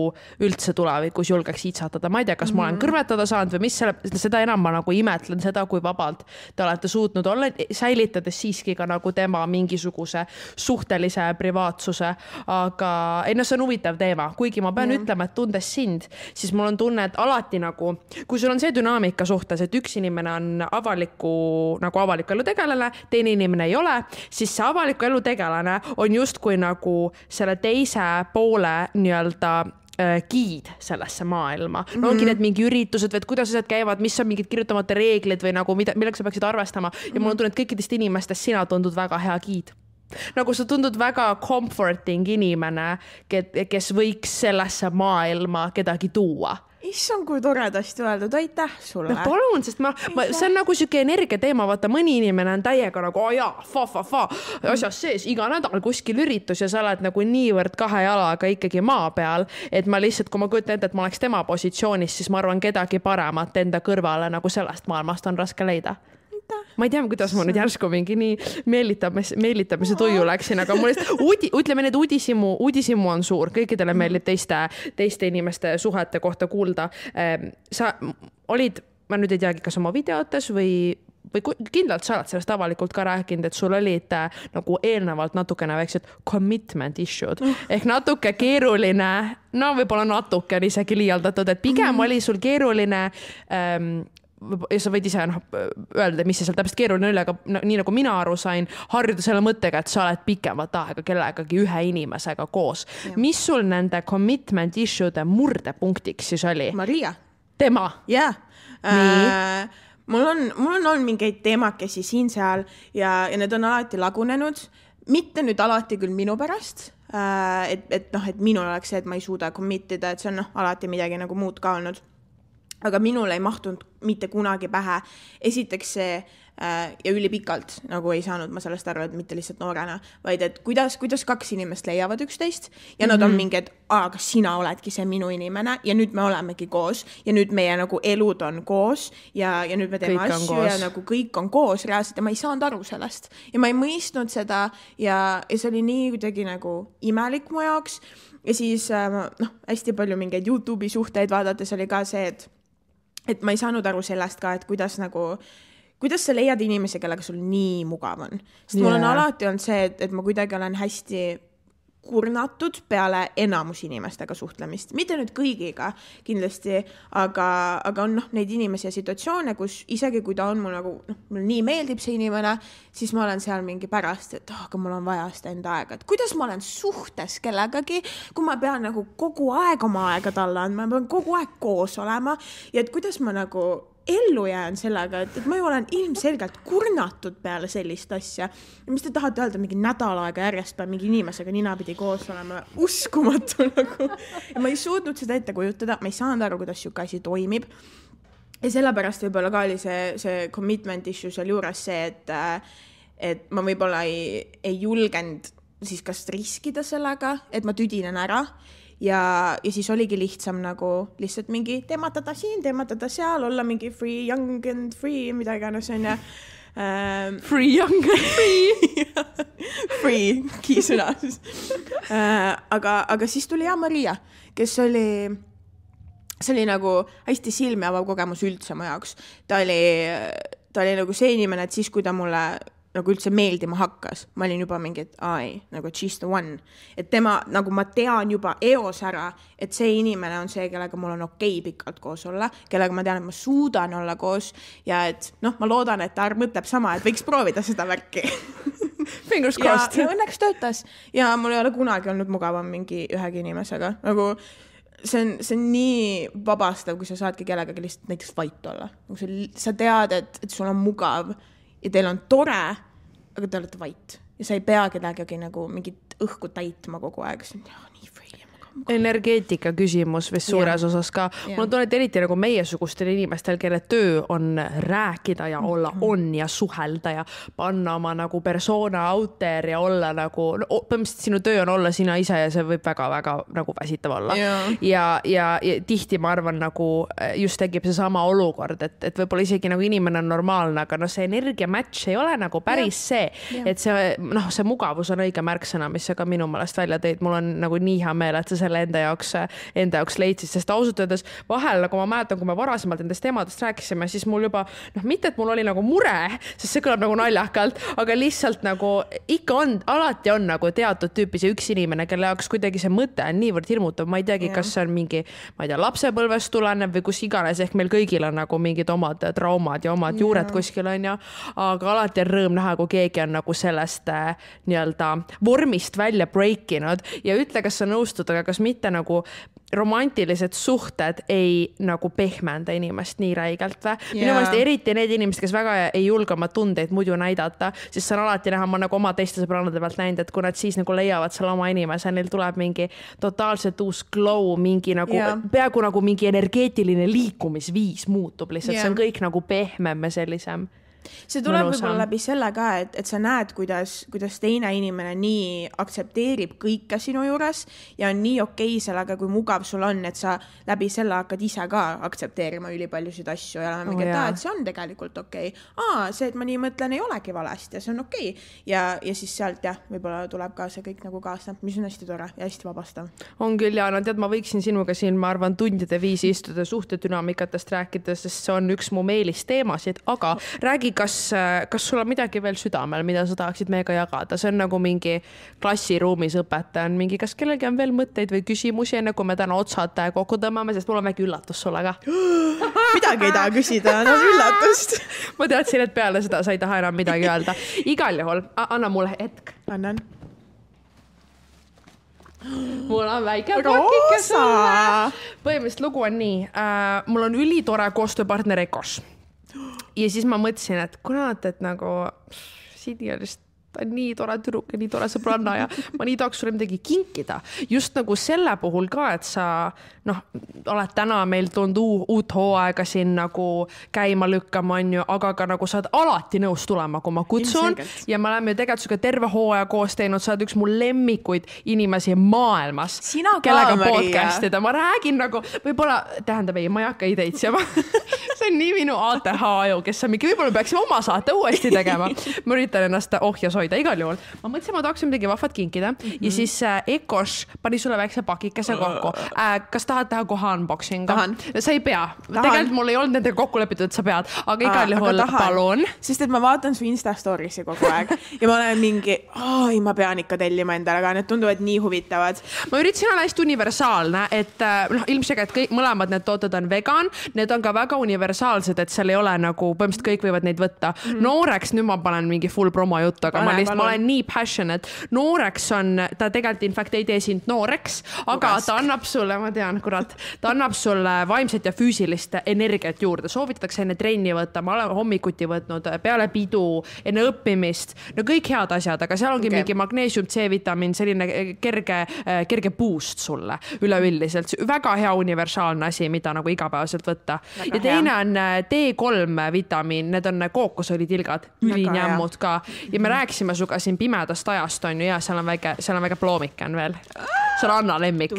üldse tulevikus julgeks iitsatada. Ma ei tea, kas ma olen kõrvetada saanud või mis seda enam ma nagu imetlen seda, kui vabalt te olete suutnud olla, säilitades siiski ka nagu tema mingisuguse suhtelise privaatsuse. Aga see on huvitav teema. Kuigi ma pean ütlema, et tundes sind, siis mul on tunne, et alati nagu, kui sul on see dünaamika suhtes, et üks inimene on avaliku elu tegelane, teine inimene ei ole, siis see avaliku elu tegelane on justkui nagu selle teise poole nii-öelda giid sellesse maailma. Ongi need mingi üritused või kuidas asjad käivad, mis on mingid kirjutamata reeglid või nagu millega sa peaksid arvestama. Ja mul on tunne, et kõikidest inimestest sina tundud väga hea giid. Nagu sa tundud väga comforting inimene, kes võiks sellesse maailma kedagi tuua. Issand, kui toredasti öeldud, aitäh sulle. Palun, sest see on nagu siuke energia teema, vaata mõni inimene on täiega nagu asjas sees, iga nädal kuskil üritus ja sa oled nagu niivõrd kahe jalaga ikkagi maa peal, et ma lihtsalt, kui ma kujutan ette, et ma oleks tema positsioonis, siis ma arvan kedagi paremat enda kõrvale nagu sellest maailmast on raske leida. Ma ei tea, kuidas ma nüüd järsku mingi nii meelitamise tuju läksin, aga mul ütleme need uudisimu on suur, kõikidele meeldib teiste inimeste suhete kohta kuulda. Sa olid, ma nüüd ei teagi, kas oma videotes või kindlalt sa oled sellest avalikult ka rääkinud, et sul olid nagu eelnevalt natukene väiksed commitment issued, ehk natuke keeruline, võib-olla natuke isegi liialdatud, et pigem oli sul keeruline ja sa võid ise öelda, mis see seal täpselt keeruline oli, aga nii nagu mina aru sain, harjuda selle mõttega, et sa oled pikemat aega kellegagi ühe inimesega koos. Mis sul nende commitment issue'de murdepunktiks siis oli? Maria. Tema? Jah. Mul on olnud mingeid teemakesi siin seal ja need on alati lagunenud. Mitte nüüd alati küll minu pärast, et minul oleks see, et ma ei suuda committida, et see on alati midagi nagu muud ka olnud. Aga minul ei mahtunud mitte kunagi pähe. Esiteks see ja ülipikalt nagu ei saanud ma sellest aru, et mitte lihtsalt noorena, vaid et kuidas kaks inimest leiavad üksteist ja nad on mingi, et aga sina oledki see minu inimene ja nüüd me olemegi koos ja nüüd meie nagu elud on koos ja nüüd me teeme asju ja nagu kõik on koos reaalselt ja ma ei saanud aru sellest ja ma ei mõistnud seda ja see oli nii kuidagi nagu imelik mu jaoks ja siis hästi palju mingeid YouTube'i suhteid vaadates oli ka see, et ma ei saanud aru sellest ka, et kuidas nagu kuidas sa leiad inimesi, kellega sul nii mugav on? Sest mul on alati olnud see, et ma kuidagi olen hästi kurnatud peale enamus inimestega suhtlemist. Mitte nüüd kõigiga kindlasti, aga on neid inimesi ja situatsioone, kus isegi kui ta on mul nagu, mul nii meeldib see inimene, siis ma olen seal mingi pärast, et aga mul on vaja seda enda aega. Et kuidas ma olen suhtes kellegagi, kui ma pean nagu kogu aeg oma aega talle andma, ma pean kogu aeg koos olema ja et kuidas ma nagu ellu jään sellega, et ma ju olen ilmselgelt kurnatud peale sellist asja. Ja mis te tahate öelda, mingi nädal aega järjest peab mingi inimesega ninapidi koos olema, uskumatu nagu. Ja ma ei suutnud seda ette kujutada, ma ei saanud aru, kuidas siuke asi toimib. Ja sellepärast võib-olla ka oli see commitment issue seal juures see, et ma võib-olla ei julgenud siis kas riskida sellega, et ma tüdinen ära. Ja siis oligi lihtsam nagu lihtsalt mingi teematada siin, teematada seal, olla mingi free, young and free, mida iganes on ja free, young and free free, kiisõna aga siis tuli Maria, kes see oli nagu hästi silmi avav kogemus üldse mu jaoks. Ta oli nagu see inimene, et siis kui ta mulle nagu üldse meeldima hakkas. Ma olin juba mingi, et nagu she's the one. Et tema, nagu ma tean juba eos ära, et see inimene on see, kellega mul on okei pikalt koos olla, kellega ma tean, et ma suudan olla koos ja et ma loodan, et ta mõtleb sama, et võiks proovida seda värki. Fingers crossed. Ja õnneks töötas. Ja mul ei ole kunagi olnud mugavam mingi ühegi inimesega. Nagu see on nii vabastav, kui sa saadki kellegagi lihtsalt näiteks vait olla. Sa tead, et sul on mugav ja teil on tore, aga te olete vait. Ja sa ei pea kedagi nagu mingit õhku täitma kogu aeg. Nii free. Energeetika küsimus vist suures osas ka. Mul on tunnet eriti nagu meiesugustel inimestel, kelle töö on rääkida ja olla on ja suhelda ja panna oma nagu persona out there ja olla nagu, põhimõtteliselt sinu töö on olla sina ise ja see võib väga-väga nagu väsitav olla. Ja tihti ma arvan nagu just tekib see sama olukord, et võib-olla isegi nagu inimene on normaalne, aga see energia match ei ole nagu päris see, et see mugavus on õige märksõna, mis sa ka minu meelest välja tõid. Mul on nagu nii hea meel, et sa selle enda jaoks leidsid, sest ausalt öeldes vahel, nagu ma mäletan, kui me varasemalt endast teemadest rääkisime, siis mul juba, mitte et mul oli nagu mure, sest see kõlab nagu naljakalt, aga lihtsalt nagu ikka on, alati on nagu teatud tüüpi see üks inimene, kelle jaoks kuidagi see mõte on niivõrd hirmutav, ma ei teagi, kas see on mingi, ma ei tea, lapsepõlvest tuleneb või kus iganes, ehk meil kõigil on nagu mingid omad traumad ja omad juured kuskil on ja, aga alati on rõõm näha, kui keegi on nagu sellest nii-öelda vormist välja breakinud ja ütle, kas sa nõustud, aga kas mitte nagu romantilised suhted ei nagu pehmenda inimest nii räigelt või? Minu meelest eriti need inimesed, kes väga ei julge oma tundeid muidu näidata, siis see on alati näha, ma nagu oma teiste sõbrannade pealt näinud, et kui nad siis nagu leiavad selle oma inimese, neil tuleb mingi totaalselt uus glow, mingi nagu peaaegu nagu mingi energeetiline liikumisviis muutub lihtsalt, see on kõik nagu pehmem ja sellisem. See tuleb võib-olla läbi selle ka, et sa näed, kuidas teine inimene nii aktsepteerib kõike sinu juures ja on nii okei sellega, kui mugav sul on, et sa läbi selle hakkad ise ka aktsepteerima ülipaljusid asju ja olema mingi, et see on tegelikult okei. See, et ma nii mõtlen, ei olegi valesti ja see on okei. Ja siis sealt võib-olla tuleb ka see kõik nagu kaasna, mis on hästi tore ja hästi vabastav. On küll ja tead, ma võiksin sinuga siin, ma arvan, tundide viisi istuda suhtedünaamikatest rääkides, sest see on üks mu meelisteemasid, aga räägi, kas sul on midagi veel südamel, mida sa tahaksid meiega jagada? See on nagu mingi klassiruumis õpetaja on mingi, kas kellelgi on veel mõtteid või küsimusi, enne kui me täna otsad kokku tõmbame, sest mul on väike üllatus sulle ka. Midagi ei taha küsida, on üllatust. Ma teadsin, et peale seda sa ei taha enam midagi öelda. Igal juhul, anna mulle hetk. Annan. Mul on väike pakike sulle. Põhimõtteliselt lugu on nii. Mul on ülitore koostööpartner Ekos. Ja siis ma mõtlesin, et kuna et nagu Sidi on lihtsalt nii tore tüdruk ja nii tore sõbranna ja ma nii tahaks sulle midagi kinkida. Just nagu selle puhul ka, et sa oled täna meil toonud uut hooaega siin nagu käima lükkama, aga ka nagu saad alati nõus tulema, kui ma kutsun. Ja me oleme ju tegelikult suga terve hooaja koos teinud, saad üks mu lemmikuid inimesi maailmas. Sina ka, kellega podcastida. Ma räägin nagu, võib-olla, tähendab ei, ma ei hakka ideid seama. see on nii minu ATH aju, kes on mingi, võib-olla peaksime oma saate uuesti tegema. Ma üritan ennast ohjas hoida igal juhul. Ma mõtlesin, ma tahaksin midagi vahvat kinkida ja siis Ekosh pani sulle väikse pakikese kokku. Kas tahad teha kohe unboxingu? Sa ei pea. Tegelikult mul ei olnud nendega kokku lepitud, et sa pead, aga igal juhul palun. Sest et ma vaatan su Insta storiesi kogu aeg ja ma olen mingi, ma pean ikka tellima endale, aga need tunduvad nii huvitavad. Ma üritasin olla hästi universaalne, et ilmselt mõlemad need tooted on vegan, need on ka väga universaalsed, et seal ei ole nagu, põhimõtteliselt kõik võivad neid võtta. Nooreks, nüüd ma panen mingi full promo juttu, aga ma olen nii passionate. Nooreks on, ta tegelikult in fact ei tee sind nooreks, aga ta annab sulle, ma tean, kurat, ta annab sulle vaimset ja füüsilist energiat juurde. Soovitatakse enne trenni võtta, ma olen hommikuti võtnud peale pidu, enne õppimist, no kõik head asjad, aga seal ongi mingi magneesium, C-vitamiin, selline kerge boost sulle üleüldiselt. Väga hea universaalne asi, mida nagu igapäevaselt võtta. Ja teine on D3 vitamiin, need on kookosõlitilgad, ülinjämmud ka. Ja me rääkisime suga siin pimedast ajast on ju ja seal on väike ploomiken veel. See on Anna lemmik.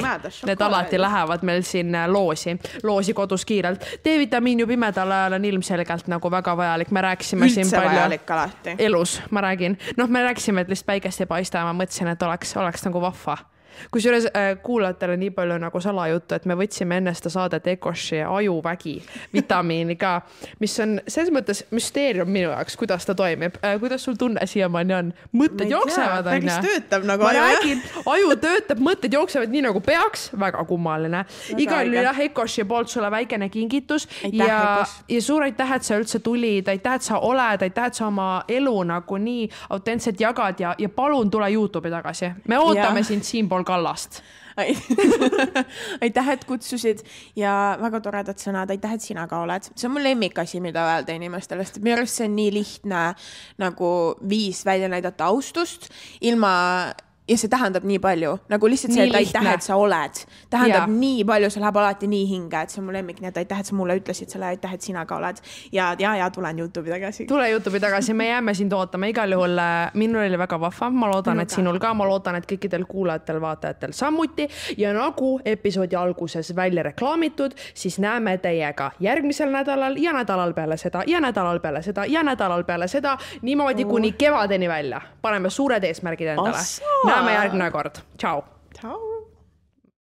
Need alati lähevad meil siin loosi kodus kiirelt. D-vitamiin ju pimedal ajal on ilmselgelt nagu väga vajalik. Me rääksime siin palju elus, ma räägin. Me rääksime, et lihtsalt päikest ei paista ja ma mõtlesin, et oleks nagu vahva. Kusjuures kuulajatele nii palju nagu salajuttu, et me võtsime enne seda saadet Ekoshi ajuvägi vitamiini ka, mis on selles mõttes müsteerium minu jaoks, kuidas ta toimib. Kuidas sul tunne siiamaani on? Mõtted jooksevad, päris töötab nagu aju. Ma räägin, aju töötab, mõtted jooksevad nii nagu peaks, väga kummaline. Igal jah, Ekoshi poolt sulle väikene kingitus ja suur aitäh, et sa üldse tulid, aitäh, et sa oled, aitäh, et sa oma elu nagu nii autentselt jagad ja palun tule YouTube'i tagasi. Me ootame sind siinpool Kallast. Aitäh, et kutsusid ja väga toredad sõnad. Aitäh, et sina ka oled. See on mul lemmikasi, mida öelda inimestele, sest minu arust see on nii lihtne nagu viis välja näidata austust ilma ja see tähendab nii palju, nagu lihtsalt see, et aitäh, et sa oled. Tähendab nii palju, see läheb alati nii hinge, et see on mu lemmik, nii et aitäh, et sa mulle ütlesid selle, aitäh, et sina ka oled. Ja tulen YouTube'i tagasi. Tule YouTube'i tagasi, me jääme sind ootama. Igal juhul minul oli väga vahva, ma loodan, et sinul ka, ma loodan, et kõikidel kuulajatel, vaatajatel samuti. Ja nagu episoodi alguses välja reklaamitud, siis näeme teiega järgmisel nädalal ja nädalal peale seda ja nädalal peale seda ja nädalal peale seda, niimoodi kuni kevadeni välja. Paneme suured eesmärgid endale. Näeme järgmine kord. Ciao. Ciao.